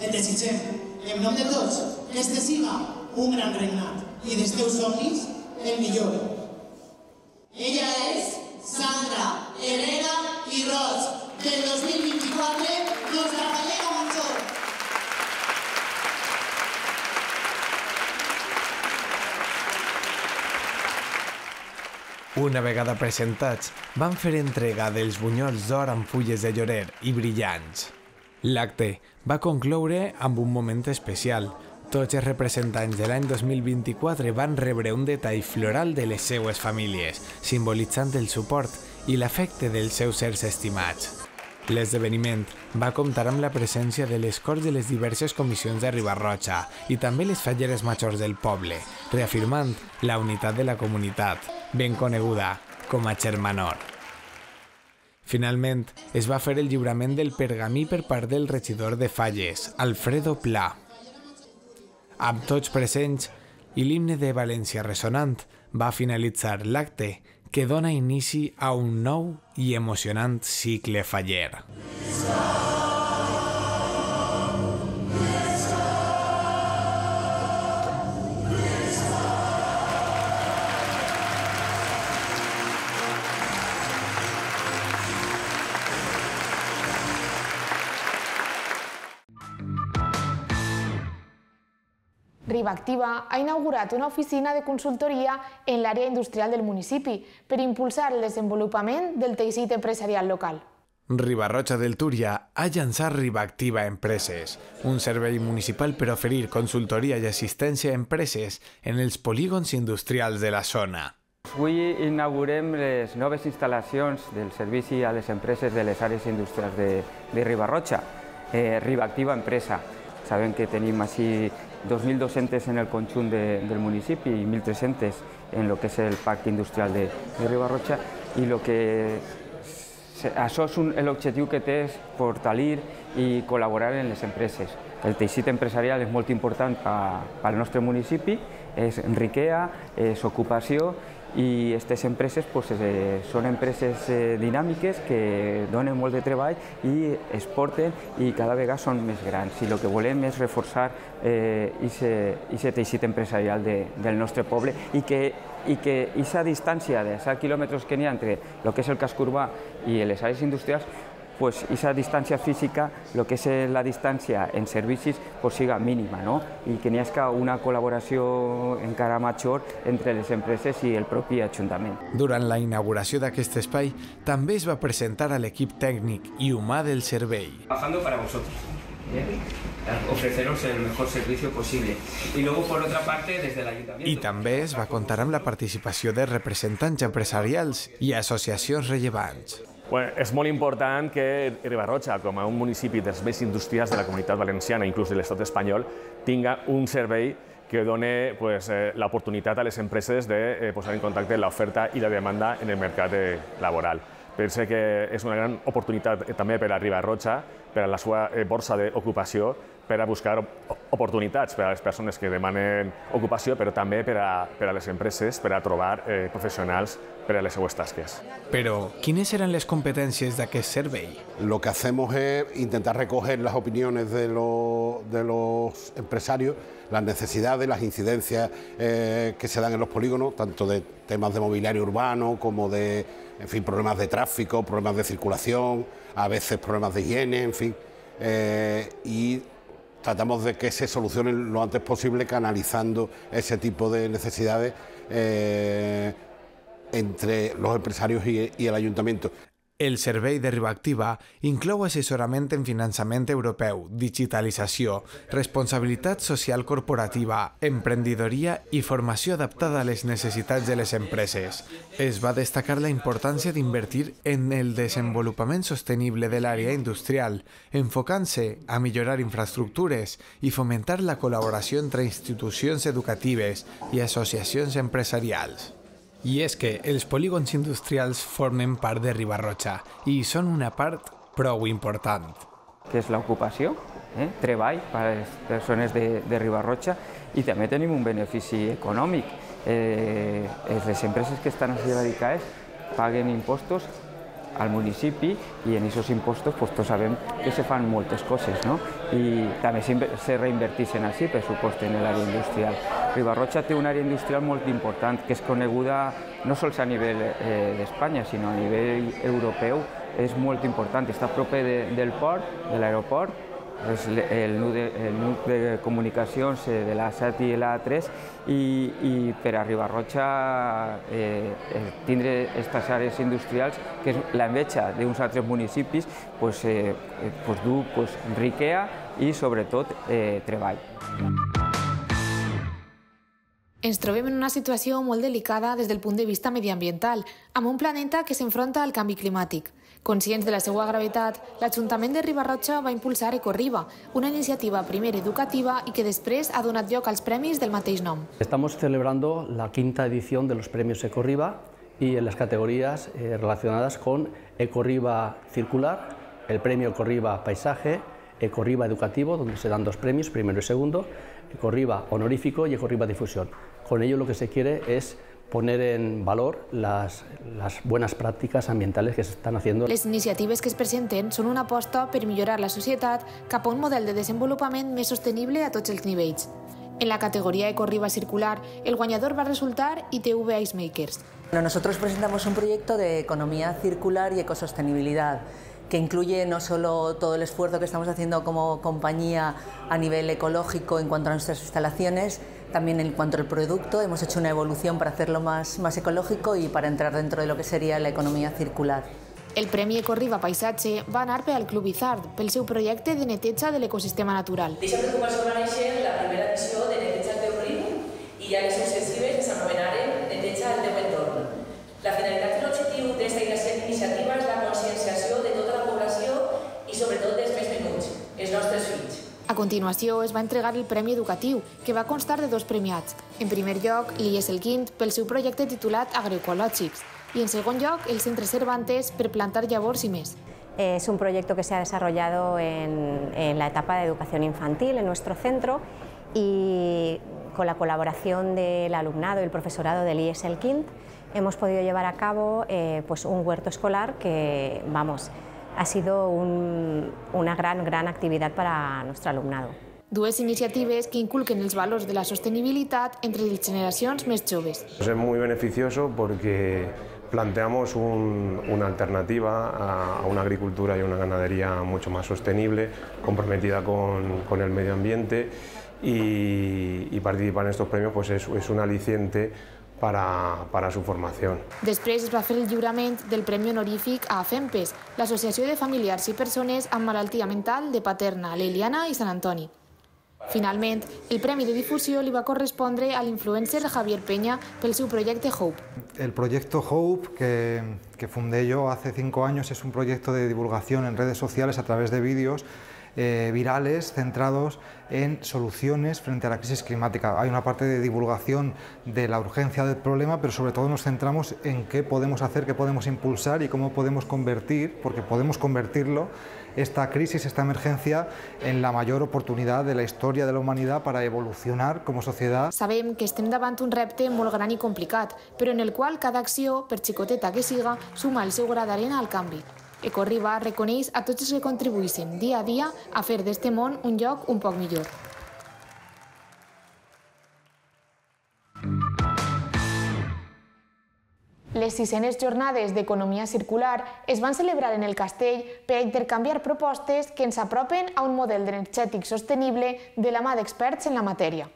Et desitgem, en nom de tots, que este siga un gran regnat i dels teus somnis el millor. Ella és Sandra Herrera i Roig, del dos mil vint-i-quatre, nostra Fallera Major. Una vegada presentats, van fer entrega dels bunyols d'or amb fulles de llorer i brillants. L'acte va concloure amb un moment especial. Tots els representants de l'any dos mil vint-i-quatre van rebre un detall floral de les seues famílies, simbolitzant el suport i l'afecte dels seus éssers estimats. L'esdeveniment va comptar amb la presència de les corts de les diverses comissions de Ribarroja i també les falleres majors del poble, reafirmant la unitat de la comunitat, ben coneguda com a Germanor. Finalment, es va fer el lliurament del pergamí per part del regidor de Falles, Alfredo Pla. Amb tots presents i l'himne de València ressonant, va finalitzar l'acte que dona inici a un nou i emocionant cicle faller. Ribactiva ha inaugurat una oficina de consultoria en l'àrea industrial del municipi per impulsar el desenvolupament del teixit empresarial local. Riba-roja del Túria ha llançat Ribactiva Empreses, un servei municipal per oferir consultoria i assistència a empreses en els polígons industrials de la zona. Avui inaugurem les noves instal·lacions del servici a les empreses de les àrees industrials de, de Riba-roja, eh, Ribactiva Empresa. Sabem que tenim així dos mil dos-centes en el conjunt de, del municipi i mil tres-centes en el que és el parc industrial de, de Riba-roja, i lo que, això és l'objectiu que té és fortalir i col·laborar en les empreses. El teixit empresarial és molt important pel nostre municipi, és riquesa, és ocupació, i aquestes empreses pues, eh, són empreses eh, dinàmiques que donen molt de treball i exporten i cada vegada són més grans. I el que volem és reforçar aquest eh, teixit empresarial de, del nostre poble i que i que aquesta distància de set quilòmetres que n'hi ha entre el que és el casc urbà i les àrees industrials, pues esa distància física, el que és la distància en servicis, pues siga mínima, no? I que n'hi hagi una col·laboració encara major entre les empreses i el propi Ajuntament. Durant la inauguració d'aquest espai, també es va presentar a l'equip tècnic i humà del servei. Trabajando para vosotros, ¿eh? Ofreceros el mejor servicio posible. Y luego, por otra parte, desde el Ayuntamiento... I també es va comptar amb la participació de representants empresarials i associacions rellevants. Bueno, és molt important que Riba-roja, com a un municipi dels més industrials de la Comunitat Valenciana, inclús de l'estat espanyol, tinga un servei que doni pues, eh, l'oportunitat a les empreses de eh, posar en contacte l'oferta i la demanda en el mercat eh, laboral. Penso que és una gran oportunitat eh, també per a Riba-roja, per a la seva eh, borsa d'ocupació, per a buscar oportunitats per a les persones que demanen ocupació, però també per a, per a les empreses, per a trobar eh, professionals per a les seues tasques. Però, ¿quiénes eran las competencias de aquel survey? Lo que hacemos es intentar recoger las opiniones de los, de los empresarios, las necesidades, las incidencias eh, que se dan en los polígonos, tanto de temas de mobiliario urbano como de, en fin, problemas de tráfico, problemas de circulación, a veces problemas de higiene, en fin, eh, y tratamos de que se solucionen lo antes posible canalizando ese tipo de necesidades eh, entre los empresarios y, y el Ayuntamiento. El servei de Ribactiva inclou assessorament en finançament europeu, digitalització, responsabilitat social corporativa, emprendidoria i formació adaptada a les necessitats de les empreses. Es va destacar la importància d'invertir en el desenvolupament sostenible de l'àrea industrial, enfocant-se a millorar infraestructures i fomentar la col·laboració entre institucions educatives i associacions empresarials. I és que els polígons industrials formen part de Riba-roja i són una part prou important. Que és l'ocupació, eh? treball per a les persones de, de Riba-roja, i també tenim un benefici econòmic. Eh, les empreses que estan així radicades paguen impostos al municipi i en aquests impostos pues, tots sabem que se fan moltes coses, no? I també se reinverteixen així, per supost, en l'àrea industrial. Riba-roja té una àrea industrial molt important, que és coneguda no sols a nivell eh, d'Espanya, sinó a nivell europeu. És molt important, està a prop de, del port, de l'aeroport, és el nucli de comunicacions de l'A set i l'A tres, i, i per a Riba-roja eh, tindre aquestes àrees industrials, que és l'enveja d'uns altres municipis, pues, eh, pues, du pues, riquesa i sobretot eh, treball. Ens trobem en una situació molt delicada des del punt de vista mediambiental, amb un planeta que s'enfronta al canvi climàtic. Conscients de la seva gravetat, l'Ajuntament de Riba-roja va impulsar Ecorriba, una iniciativa primer educativa y que després ha donat lloc als premis del mateix nom. Estamos celebrando la quinta edición de los premios Ecorriba y en las categorías eh, relacionadas con Ecorriba Circular, el premio Ecorriba Paisaje, Ecorriba Educativo, donde se dan dos premios, primero y segundo, Ecorriba Honorífico y Ecorriba Difusión. Con ello lo que se quiere es poner en valor las, las buenas prácticas ambientales que se están haciendo. Les iniciatives que es presenten són una aposta per millorar la societat cap a un model de desenvolupament més sostenible a tots els nivells. En la categoría Ecorriba Circular, el guanyador va resultar I T V Icemakers. Nosotros presentamos un proyecto de economía circular y ecosostenibilidad que incluye no solo todo el esfuerzo que estamos haciendo como compañía a nivel ecológico en cuanto a nuestras instalaciones, también en cuanto al producto. Hemos hecho una evolución para hacerlo más, más ecológico y para entrar dentro de lo que sería la economía circular. El Premi Ecorriba Paisatge va anar per al Club Izard, pel seu projecte de neteja de l'ecosistema natural. Deixa preocupació va néixer la primera edició de Neteja al teu riu i ja les successives que s'anomenaren Neteja al teu entorn. La finalitat i l'objectiu d'aquesta iniciativa és la conscienciació de tota la població i sobretot dels més menuts, els nostres fills. A continuació es va entregar el Premi Educatiu, que va constar de dos premiats. En primer lloc, l'I E S El Quint pel seu projecte titulat Agroecològics y en segundo lugar el Centre Cervantes per plantar llavors y més. Es un proyecto que se ha desarrollado en, en la etapa de educación infantil en nuestro centro y con la colaboración del alumnado y el profesorado del I E S El Quint hemos podido llevar a cabo eh, pues un huerto escolar que, vamos, ha sido un, una gran, gran actividad para nuestro alumnado. Dues iniciatives que inculquen els valors de la sostenibilitat entre les generacions més joves. Es muy beneficioso porque planteamos un, una alternativa a, a una agricultura y una ganadería mucho más sostenible, comprometida con, con el medio ambiente y, y participar en estos premios pues es, es un aliciente para, para su formación. Després es va fer el lliurament del Premi Honorífic a FEMPES, l'Associació de Familiars i Persones amb Malaltia Mental de Paterna, l'Eliana i Sant Antoni. Finalment, el Premi de Difusió li va correspondre a l'influencer Javier Peña pel seu proyecto Hope. El proyecto Hope, que, que fundé yo hace cinco años, es un proyecto de divulgación en redes sociales a través de vídeos eh, virales centrados en soluciones frente a la crisis climática. Hay una parte de divulgación de la urgencia del problema, pero sobre todo nos centramos en qué podemos hacer, qué podemos impulsar y cómo podemos convertir, porque podemos convertirlo, esta crisis, esta emergencia, en la mayor oportunidad de la historia de la humanidad para evolucionar como sociedad. Sabem que estem davant un repte molt gran i complicat, però en el qual cada acció, per xicoteta que siga, suma el seu gra d'arena al canvi. Ecorriba reconeix a tots els que contribuïssin dia a dia a fer d'este món un lloc un poc millor. Les sisenes jornades d'economia circular es van celebrar en el Castell per a intercanviar propostes que ens apropen a un model energètic sostenible de la mà d'experts en la matèria.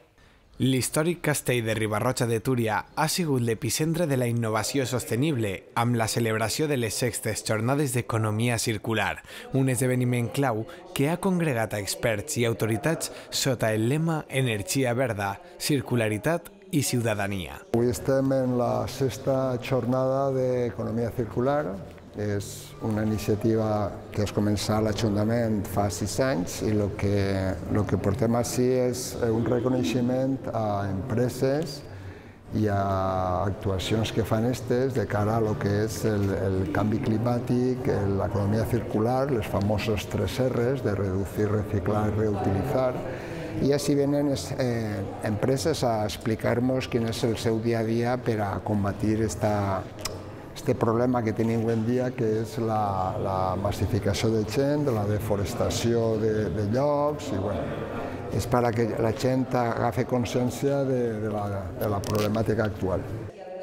L'històric castell de Riba-roja de Túria ha sigut l'epicentre de la innovació sostenible amb la celebració de les sextes jornades d'economia circular, un esdeveniment clau que ha congregat a experts i autoritats sota el lema Energia verda, circularitat i ciutadania. Avui estem en la sexta jornada d'economia circular. És una iniciativa que es començà a l'Ajuntament fa sis anys i el que, el que portem així és un reconeixement a empreses i a actuacions que fan estes de cara a lo que és el, el canvi climàtic, l'economia circular, les famoses tres R's de reducir, reciclar i reutilitzar. I així venen eh, empreses a explicar-nos quin és el seu dia a dia per a combatir esta este problema que tenim avui en dia, que és la, la massificació de gent, la deforestació de, de llocs, i bueno, és per a que la gent agafi consciència de, de, la, de la problemàtica actual.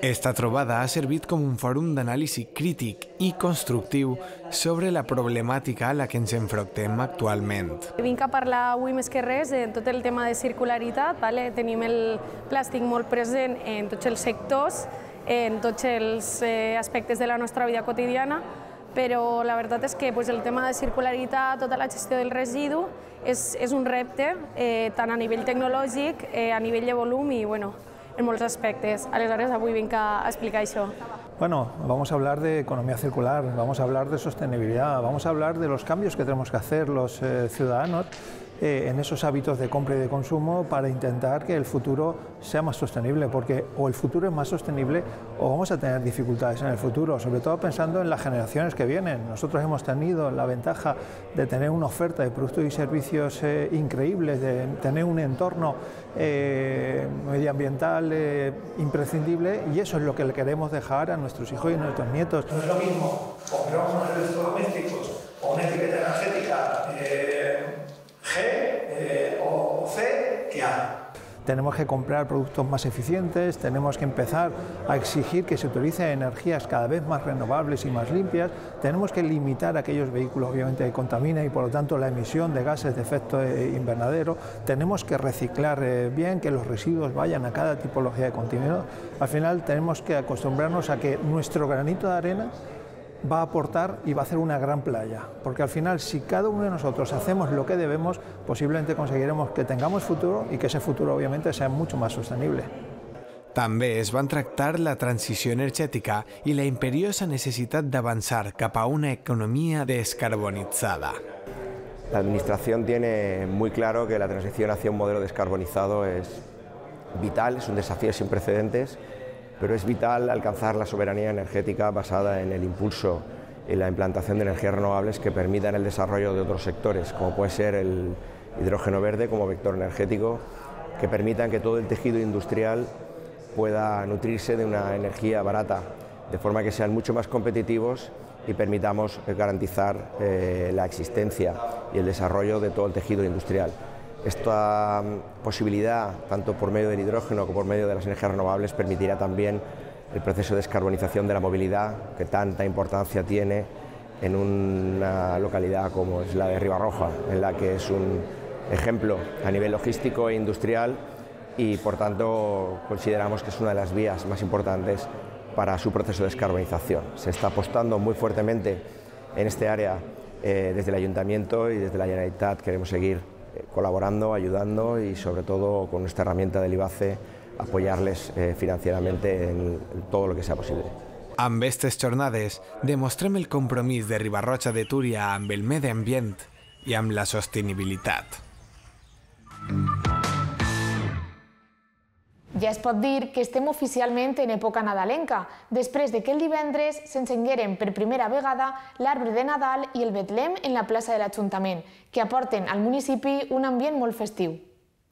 Esta trobada ha servit com un fòrum d'anàlisi crític i constructiu sobre la problemàtica a la que ens enfrontem actualment. Vinc a parlar avui més que res de tot el tema de circularitat. Vale? Tenim el plàstic molt present en tots els sectors, en tots els eh, aspectes de la nostra vida quotidiana, però la veritat és que pues, el tema de circularitat, tota la gestió del residu, és, és un repte eh, tant a nivell tecnològic, eh, a nivell de volum i bueno, en molts aspectes. Aleshores, avui vinc a explicar això. Bueno, vamos a hablar de economía circular, vamos a hablar de sostenibilidad, vamos a hablar de los cambios que tenemos que hacer los eh, ciudadanos eh, en esos hábitos de compra y de consumo para intentar que el futuro sea más sostenible, porque o el futuro es más sostenible o vamos a tener dificultades en el futuro, sobre todo pensando en las generaciones que vienen. Nosotros hemos tenido la ventaja de tener una oferta de productos y servicios eh, increíbles, de tener un entorno eh, medioambiental eh, imprescindible, y eso es lo que le queremos dejar a nuestros hijos y a nuestros nietos. No es lo mismo comprar unos electrodomésticos o una etiqueta energética eh, G eh, o C que A. tenemos que comprar productos más eficientes, tenemos que empezar a exigir que se utilicen energías cada vez más renovables y más limpias, tenemos que limitar aquellos vehículos obviamente que contaminan y por lo tanto la emisión de gases de efecto invernadero, tenemos que reciclar eh, bien, que los residuos vayan a cada tipología de contenedor. Al final tenemos que acostumbrarnos a que nuestro granito de arena va a aportar y va a hacer una gran playa, porque al final si cada uno de nosotros hacemos lo que debemos, posiblemente conseguiremos que tengamos futuro y que ese futuro obviamente sea mucho más sostenible. També es van tractar la transició energètica i la imperiosa necessitat d'avançar cap a una economía descarbonizada. La Administración tiene muy claro que la transición hacia un modelo descarbonizado es vital, es un desafío sin precedentes, pero es vital alcanzar la soberanía energética basada en el impulso y la implantación de energías renovables que permitan el desarrollo de otros sectores, como puede ser el hidrógeno verde como vector energético, que permitan que todo el tejido industrial pueda nutrirse de una energía barata, de forma que sean mucho más competitivos y permitamos garantizar eh, la existencia y el desarrollo de todo el tejido industrial. Esta posibilidad, tanto por medio del hidrógeno como por medio de las energías renovables, permitirá también el proceso de descarbonización de la movilidad, que tanta importancia tiene en una localidad como es la de Ribarroja, en la que es un ejemplo a nivel logístico e industrial y, por tanto, consideramos que es una de las vías más importantes para su proceso de descarbonización. Se está apostando muy fuertemente en este área eh, desde el Ayuntamiento y desde la Generalitat. Queremos seguir colaborando, ayudando y sobre todo con nuestra herramienta del IBACE apoyarles eh, financieramente en, en todo lo que sea posible. Amb aquestes jornades demostrem el compromís de Riba-roja de Túria amb el medi ambient i amb la sostenibilitat. Ja es pot dir que estem oficialment en època nadalenca, després de que el divendres s'encengueren per primera vegada l'arbre de Nadal i el Betlem en la plaça de l'Ajuntament, que aporten al municipi un ambient molt festiu.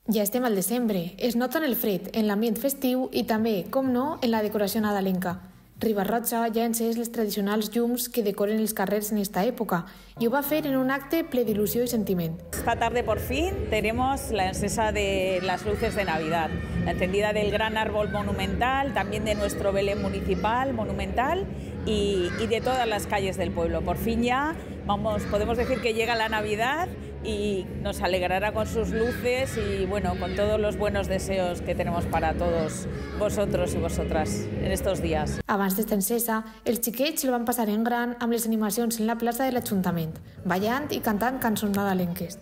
Ja estem al desembre, es nota en el fred, en l'ambient festiu i també, com no, en la decoració nadalenca. Riba-roja ja ha encès les tradicionals llums que decoren els carrers en esta època y ho va fer en un acte ple d'il·lusió y sentiment. Esta tarde por fin tenemos la encesa de las luces de Navidad, la encendida del gran árbol monumental, también de nuestro Belén municipal monumental y, y de todas las calles del pueblo. Por fin ya vamos, podemos decir que llega la Navidad y nos alegrará con sus luces y bueno, con todos los buenos deseos que tenemos para todos vosotros y vosotras en estos días. Abans d'esta encesa, els xiquets el van passar en gran amb les animacions en la plaça de l'Ajuntament, ballant i cantant cançons nadalenques.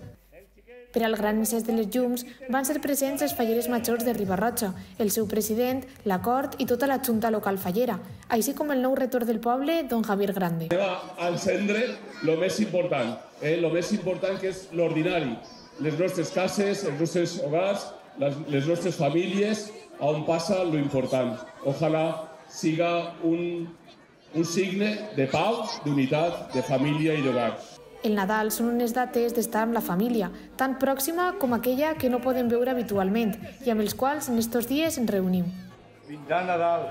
Per al gran encès de les llums van ser presents els falleres majors de Riba-roja, el seu president, la cort i tota la junta local fallera, així com el nou rector del poble, don Javier Grande. Va a encendre lo més important, eh? lo més important que és l'ordinari, les nostres cases, els nostres hogars, les, les nostres famílies, on passa lo important. Ojalà siga un, un signe de pau, d'unitat, de família i d'hogar. El Nadal són unes dates d'estar amb la família, tan pròxima com aquella que no podem veure habitualment i amb els quals en estos dies ens reunim. Vindrà Nadal,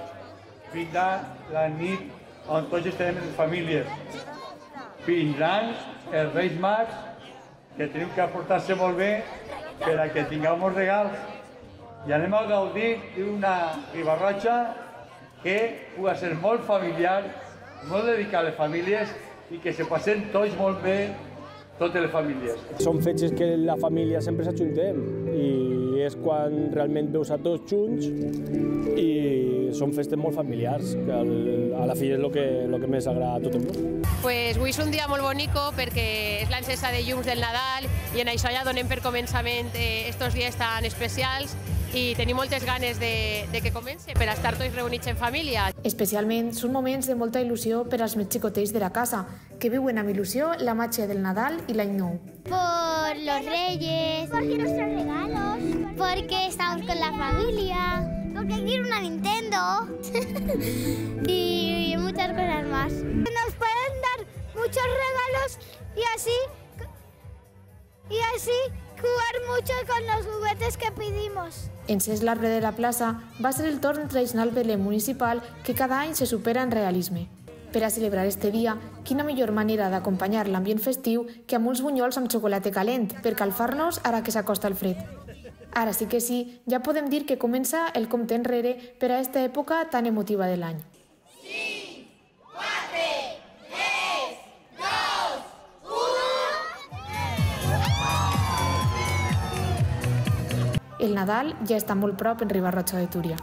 vindrà la nit on tots estarem en famílies. Vindran els Reis Mags, que tenim que aportar-se molt bé per a que tinguem regals. I anem a gaudir d'una Riba-roja que pugui ser molt familiar, molt dedicat a les famílies i que se passen tots molt bé, totes les famílies. Són fetges que la família sempre s'ajuntem i és quan realment veus a tots junts i són festes molt familiars, que a la fi és el que, el que més agrada a tot el món. Pues avui és un dia molt bonico perquè és l'encesa de llums del Nadal i en això ja donem per començament estos dies tan especials i tenim moltes ganes de, de que comence per estar tots reunits en família. Especialment són moments de molta il·lusió per als més xicotets de la casa, que viuen amb il·lusió la màgia del Nadal i l'any nou. Por los Reyes, porque nuestros regalos, porque estamos con la familia, porque quiero una Nintendo y muchas cosas más. Nos pueden dar muchos regalos y así, y así jugar mucho con los juguetes que pedimos. Encès l'arbre de la plaça va ser el torn tradicional Belén municipal que cada any se supera en realisme. Per a celebrar este dia, quina millor manera d'acompanyar l'ambient festiu que amb uns bunyols amb xocolata calent per calfar-nos ara que s'acosta el fred. Ara sí que sí, ja podem dir que comença el compte enrere per a aquesta època tan emotiva de l'any. cinc, quatre, tres, dos, u... El Nadal ja està molt prop en Riba-roja de Túria.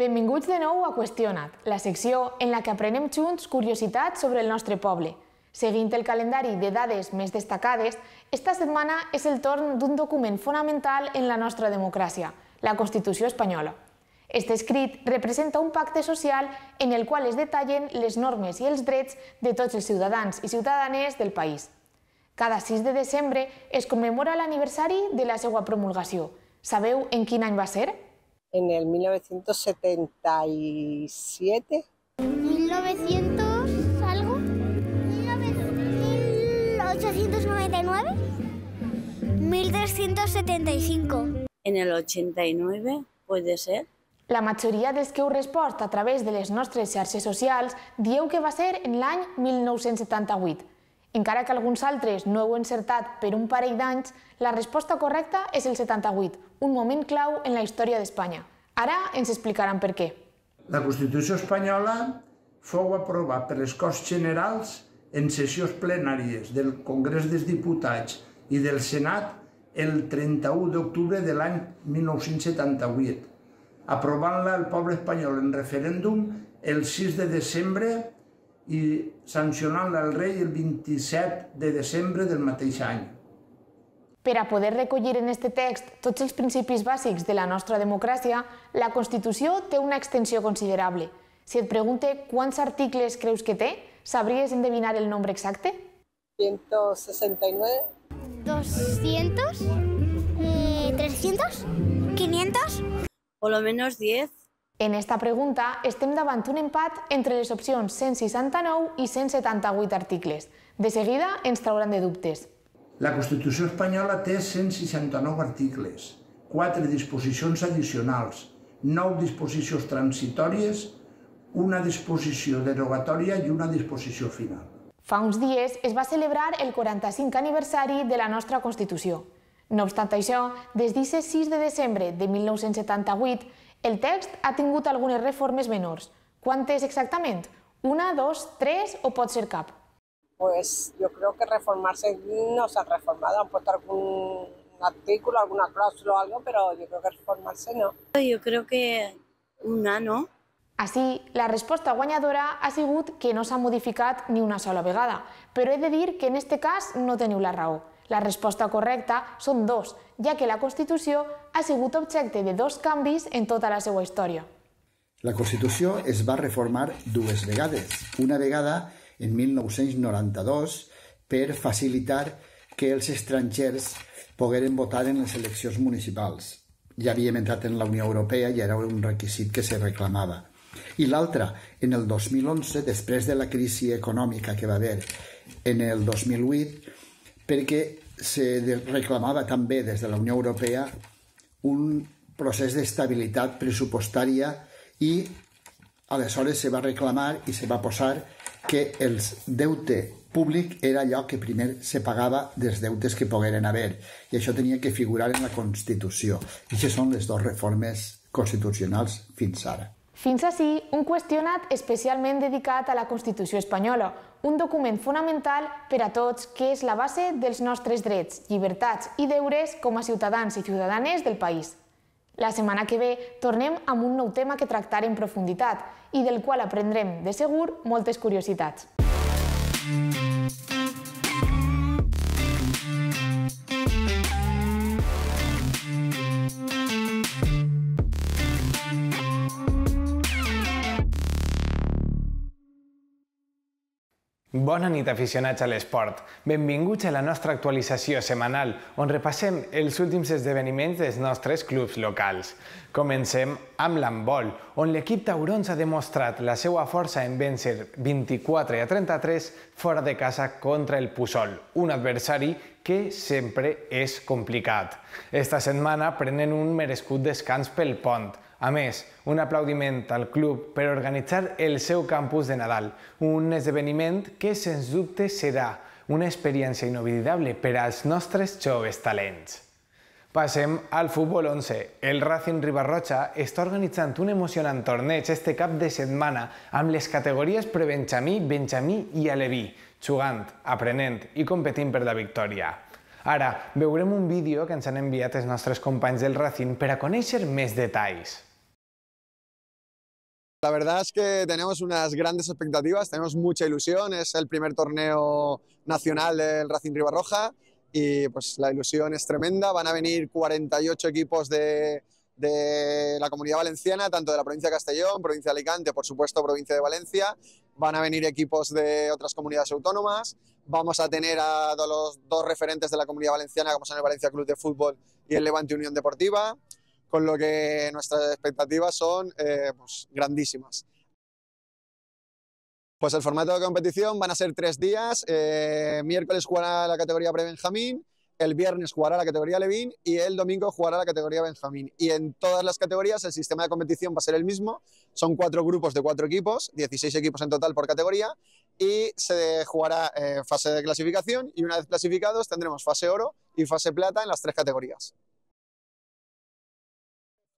Benvinguts de nou a Qüestiona't, la secció en la que aprenem junts curiositats sobre el nostre poble. Seguint el calendari de dades més destacades, esta setmana és el torn d'un document fonamental en la nostra democràcia, la Constitució espanyola. Este escrit representa un pacte social en el qual es detallen les normes i els drets de tots els ciutadans i ciutadanes del país. Cada sis de desembre es commemora l'aniversari de la seva promulgació. Sabeu en quin any va ser? En el mil novecientos setenta y siete. ¿mil novecientos algo? ¿mil ochocientos noventa y nueve? ¿mil trescientos setenta y cinco? En el ochenta y nueve, puede ser. La majoria dels que heu respost a través de les nostres xarxes socials dieu que va ser en l'any mil nou-cents setanta-vuit. Encara que alguns altres no heu encertat per un parell d'anys, la resposta correcta és el setanta-vuit, un moment clau en la història d'Espanya. Ara ens explicaran per què. La Constitució espanyola fou aprovada per les Corts Generals en sessions plenàries del Congrés dels Diputats i del Senat el trenta-u d'octubre de l'any mil nou-cents setanta-vuit, aprovant-la el poble espanyol en referèndum el sis de desembre i sancionant-la al rei el vint-i-set de desembre del mateix any. Per a poder recollir en aquest text tots els principis bàsics de la nostra democràcia, la Constitució té una extensió considerable. Si et pregunte quants articles creus que té, sabries endevinar el nombre exacte? ciento sesenta y nueve. ¿doscientos? Eh, ¿trescientos? ¿quinientos? Por lo menos diez. En esta pregunta estem davant un empat entre les opcions cent seixanta-nou i cent setanta-vuit articles. De seguida ens trauran de dubtes. La Constitució espanyola té cent seixanta-nou articles, quatre disposicions addicionals, nou disposicions transitòries, una disposició derogatòria i una disposició final. Fa uns dies es va celebrar el quaranta-cinquè aniversari de la nostra Constitució. No obstant això, des d'aquest sis de desembre de mil nou-cents setanta-vuit, el text ha tingut algunes reformes menors. Quantes exactament? Una, dos, tres o pot ser cap? Pues yo creo que reformarse no se han reformado, han puesto algún artículo, alguna cláusula o algo, pero yo creo que reformarse no. Yo creo que una, ¿no? Així, la resposta guanyadora ha sigut que no s'ha modificat ni una sola vegada, però he de dir que en aquest cas no teniu la raó. La resposta correcta són dos, ja que la Constitució ha sigut objecte de dos canvis en tota la seva història. La Constitució es va reformar dues vegades. Una vegada en mil nou-cents noranta-dos per facilitar que els estrangers pogueren votar en les eleccions municipals. Ja havíem entrat en la Unió Europea i era un requisit que se reclamava. I l'altra, en el dos mil onze, després de la crisi econòmica que va haver en el dos mil vuit, perquè se reclamava també des de la Unió Europea un procés d'estabilitat pressupostària i aleshores se va reclamar i se va posar que el deute públic era allò que primer se pagava dels deutes que pogueren haver i això tenia que figurar en la Constitució. I aquestes són les dues reformes constitucionals fins ara. Fins ací, un qüestionat especialment dedicat a la Constitució espanyola, un document fonamental per a tots que és la base dels nostres drets, llibertats i deures com a ciutadans i ciutadanes del país. La setmana que ve tornem amb un nou tema que tractar en profunditat i del qual aprendrem, de segur, moltes curiositats. Bona nit, aficionats a l'esport. Benvinguts a la nostra actualització setmanal, on repassem els últims esdeveniments dels nostres clubs locals. Comencem amb l'handbol, on l'equip taurons ha demostrat la seva força en vèncer vint-i-quatre a trenta-tres fora de casa contra el Puçol, un adversari que sempre és complicat. Esta setmana prenen un merescut descans pel pont, A més, un aplaudiment al club per organitzar el seu campus de Nadal, un esdeveniment que, sens dubte, serà una experiència inoblidable per als nostres joves talents. Passem al futbol onze. El Racing Riba-roja està organitzant un emocionant torneig este cap de setmana amb les categories prebenjamí, benjamí i aleví, jugant, aprenent i competint per la victòria. Ara, veurem un vídeo que ens han enviat els nostres companys del Racing per a conèixer més detalls. La verdad es que tenemos unas grandes expectativas, tenemos mucha ilusión, es el primer torneo nacional del Racing Riba-roja y pues la ilusión es tremenda. Van a venir cuarenta y ocho equipos de, de la Comunidad Valenciana, tanto de la provincia de Castellón, provincia de Alicante, por supuesto provincia de Valencia. Van a venir equipos de otras comunidades autónomas. Vamos a tener a los dos referentes de la Comunidad Valenciana, como son el Valencia Club de Fútbol y el Levante Unión Deportiva, con lo que nuestras expectativas son eh, pues, grandísimas. Pues el formato de competición van a ser tres días. Eh, miércoles jugará la categoría pre-benjamín, el viernes jugará la categoría Levín y el domingo jugará la categoría Benjamín. Y en todas las categorías el sistema de competición va a ser el mismo. Son cuatro grupos de cuatro equipos, dieciséis equipos en total por categoría, y se jugará eh, fase de clasificación y una vez clasificados tendremos fase oro y fase plata en las tres categorías.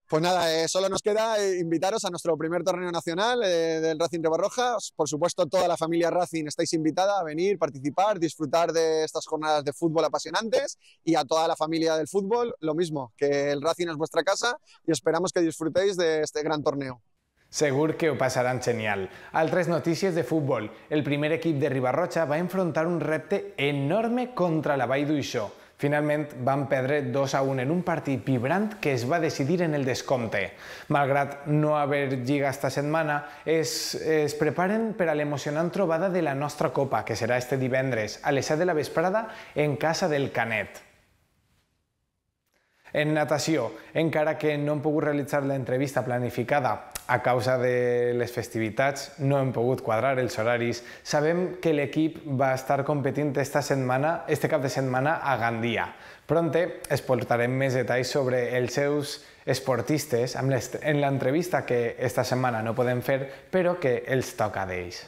Pues nada, eh, solo nos queda eh, invitaros a nuestro primer torneo nacional eh, del Racing Riba-roja. Por supuesto, toda la familia Racing estáis invitada a venir, participar, disfrutar de estas jornadas de fútbol apasionantes, y a toda la familia del fútbol lo mismo, que el Racing es vuestra casa y esperamos que disfrutéis de este gran torneo. Segur que ho passaran genial. Altres notícies de futbol. El primer equip de Riba-roja va enfrontar un repte enorme contra la Vall d'Uixó. Finalment van perdre dos a un en un partit vibrant que es va decidir en el descompte. Malgrat no haver lliga esta setmana, es, es preparen per a l'emocionant trobada de la nostra Copa, que serà este divendres a les set de la vesprada en casa del Canet. En natació, encara que no hem pogut realitzar l'entrevista planificada a causa de les festivitats, no hem pogut quadrar els horaris, sabem que l'equip va estar competint esta setmana, este cap de setmana a Gandia. Pronte es portarem més detalls sobre els seus esportistes en l'entrevista que esta setmana no podem fer, però que els toca d'ells.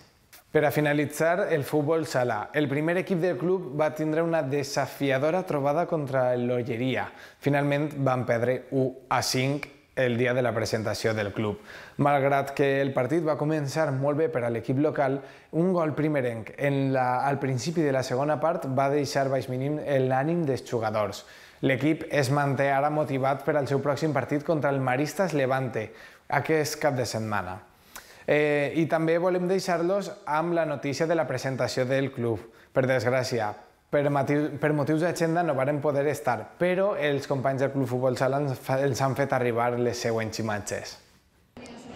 Per a finalitzar, el futbol sala. El primer equip del club va tindre una desafiadora trobada contra l'Olleria. Finalment van perdre u a cinc el dia de la presentació del club. Malgrat que el partit va començar molt bé per a l'equip local, un gol primerenc en la, al principi de la segona part va deixar baix mínim l'ànim dels jugadors. L'equip es manté ara motivat per al seu pròxim partit contra el Maristas Levante, aquest cap de setmana. Eh, I també volem deixar-los amb la notícia de la presentació del club. Per desgràcia, per, per motius d'agenda no varen poder estar, però els companys del Club Futbol Sala els han fet arribar les següents imatges.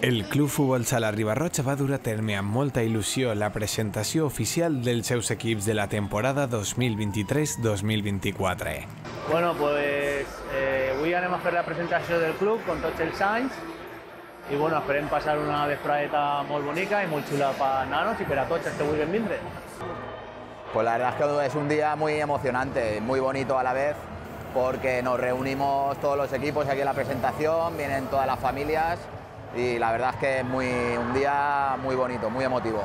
El Club Futbol Sala Riba-roja va dur a terme amb molta il·lusió la presentació oficial dels seus equips de la temporada dos mil vint-i-tres dos mil vint-i-quatre. Bueno, pues eh, avui anem a fer la presentació del club con tots els anys. I bueno, esperem passar una vesprada molt bonica y muy chula para nanos y para tots els que vulguin vindre. Pues la verdad es que es un día muy emocionante, muy bonito a la vez, porque nos reunimos todos los equipos aquí en la presentación, vienen todas las familias y la verdad es que es muy, un día muy bonito, muy emotivo.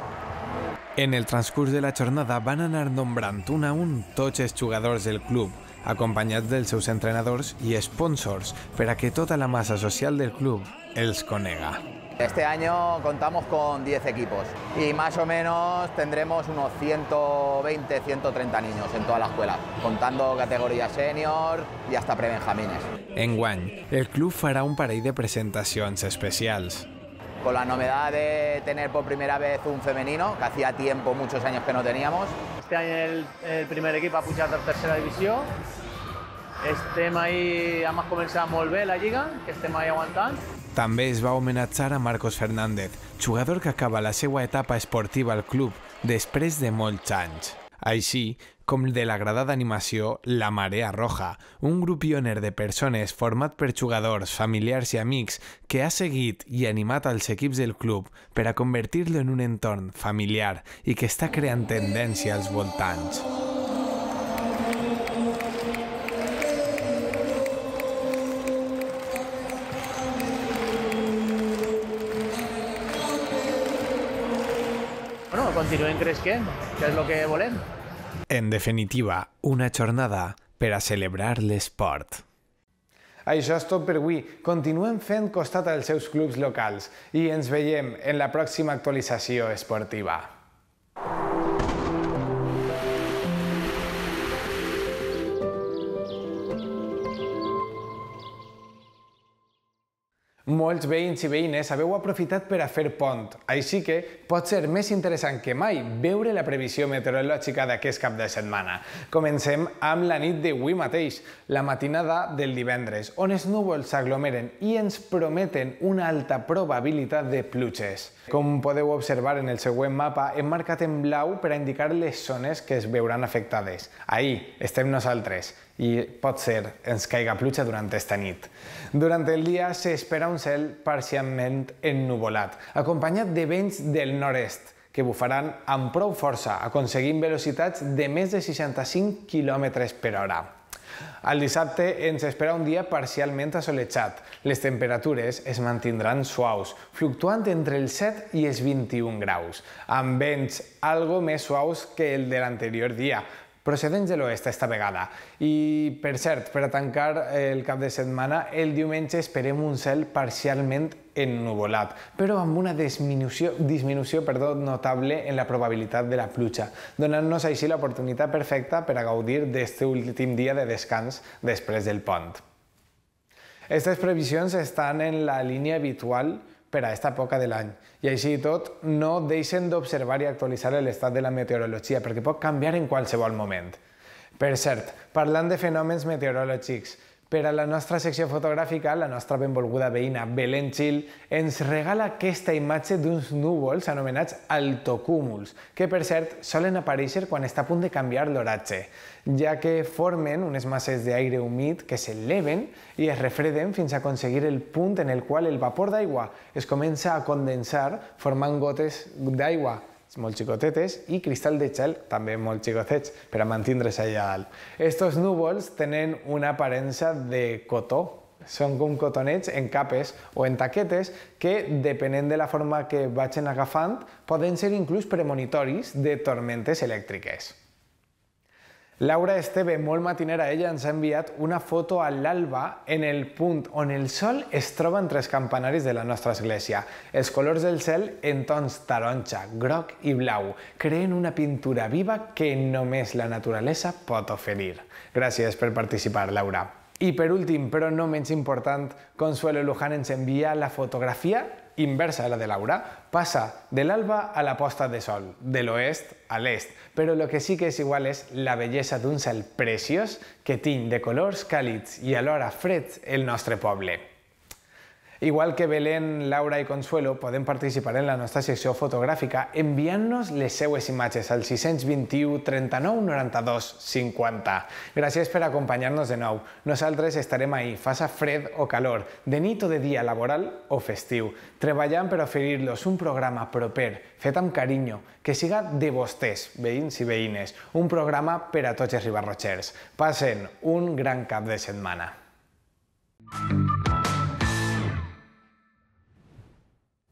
En el transcurs de la jornada van anar nombrant un a un tots els jugadors del club, acompanyats dels seus entrenadors i sponsors, per a que tota la massa social del club els conega. Este año contamos con diez equipos y más o menos tendremos unos ciento veinte, ciento treinta niños en toda la escuela, contando categorías senior y hasta prebenjamines. Enguany, el club farà un parell de presentacions especials. Con la novedad de tener por primera vez un femenino, que hacía tiempo, muchos años que no teníamos. Este año el, el primer equip ha pujat a tercera divisió. Estem ahí, hem començat molt bé la lliga, que estem ahí aguantant. També es va homenatjar a Marcos Fernández, jugador que acaba la seva etapa esportiva al club després de molts anys. Així com de l'agradada animació La Marea Roja, un grup pioner de persones format per jugadors, familiars i amics que ha seguit i animat als equips del club per a convertir-lo en un entorn familiar i que està creant tendència als voltants. bueno, continuem creixent, que és el que volem. En definitiva, una jornada per a celebrar l'esport. Això és tot per avui. Continuem fent costat als seus clubs locals i ens veiem en la pròxima actualització esportiva. Molts veïns i veïnes haveu aprofitat per a fer pont, així que pot ser més interessant que mai veure la previsió meteorològica d'aquest cap de setmana. Comencem amb la nit d'avui mateix, la matinada del divendres, on els núvols s'aglomeren i ens prometen una alta probabilitat de pluges. Com podeu observar en el següent mapa, hem marcat en blau per a indicar les zones que es veuran afectades. Ahí estem nosaltres. I pot ser ens caiga pluja durant esta nit. Durant el dia s'espera un cel parcialment ennuvolat, acompanyat de vents del nord-est, que bufaran amb prou força, aconseguint velocitats de més de seixanta-cinc quilòmetres per hora. El dissabte ens espera un dia parcialment assolejat. Les temperatures es mantindran suaus, fluctuant entre els set i els vint-i-un graus, amb vents algo més suaus que el de l'anterior dia, procedents de l'oest esta vegada. I, per cert, per a tancar el cap de setmana, el diumenge esperem un cel parcialment ennuvolat, però amb una disminució, disminució perdó, notable en la probabilitat de la pluja, donant-nos així l'oportunitat perfecta per a gaudir d'aquest últim dia de descans després del pont. Aquestes previsions estan en la línia habitual per a aquesta època de l'any. I així i tot, no deixen d'observar i actualitzar l'estat de la meteorologia, perquè pot canviar en qualsevol moment. Per cert, parlant de fenòmens meteorològics, per a la nostra secció fotogràfica, la nostra benvolguda veïna Belén Gil ens regala aquesta imatge d'uns núvols anomenats altocúmuls, que per cert solen aparèixer quan està a punt de canviar l'oratge, ja que formen unes masses d'aire humit que s'eleven i es refreden fins a aconseguir el punt en el qual el vapor d'aigua es comença a condensar formant gotes d'aigua molt xicotetes i cristall de gel també molt xicotets per a mantindre's allà dalt. Estos núvols tenen una aparença de cotó. Són com cotonets en capes o en taquetes que, depenent de la forma que vagin agafant, poden ser inclús premonitoris de tormentes elèctriques. Laura Esteve, molt matinera, ella ens ha enviat una foto a l'alba en el punt on el sol es troba entre els campanaris de la nostra església. Els colors del cel en tons taronja, groc i blau creen una pintura viva que només la naturalesa pot oferir. Gràcies per participar, Laura. I per últim, però no menys important, Consuelo Luján ens envia la fotografia inversa a la de Laura. Passa de l'alba a la posta de sol, de l'oest a l'est, però el que sí que és igual és la bellesa d'un cel preciós que tiny de colors càlids i alhora freds el nostre poble. Igual que Belén, Laura i Consuelo, podem participar en la nostra secció fotogràfica enviant-nos les seues imatges al sis cents vint-i-u trenta-nou noranta-dos cinquanta. Gràcies per acompanyar-nos de nou. Nosaltres estarem ahí, faça fred o calor, de nit o de dia laboral o festiu, treballant per oferir-los un programa proper, fet amb carinyo, que siga de vostès, veïns i veïnes, un programa per a tots els ribarrotxers. Passen un gran cap de setmana.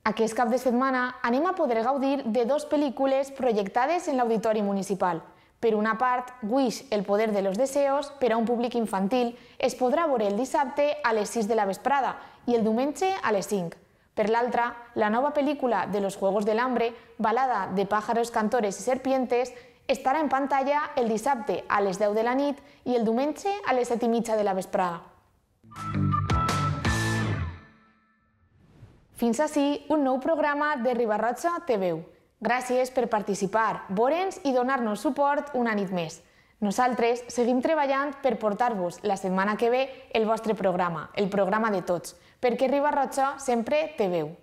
Aquest cap de setmana anem a poder gaudir de dues pel·lícules projectades en l'Auditori Municipal. Per una part, Wish, el poder de los deseos, per a un públic infantil, es podrà veure el dissabte a les sis de la vesprada i el diumenge a les cinc. Per l'altra, la nova pel·lícula de los Juegos del Hambre, balada de pájaros, cantores i serpientes, estarà en pantalla el dissabte a les deu de la nit i el diumenge a les set i mitja de la vesprada. Fins ací un nou programa de Riba-roja Te Veu. Gràcies per participar, veure'ns i donar-nos suport una nit més. Nosaltres seguim treballant per portar-vos la setmana que ve el vostre programa, el programa de tots, perquè Riba-roja sempre té veu.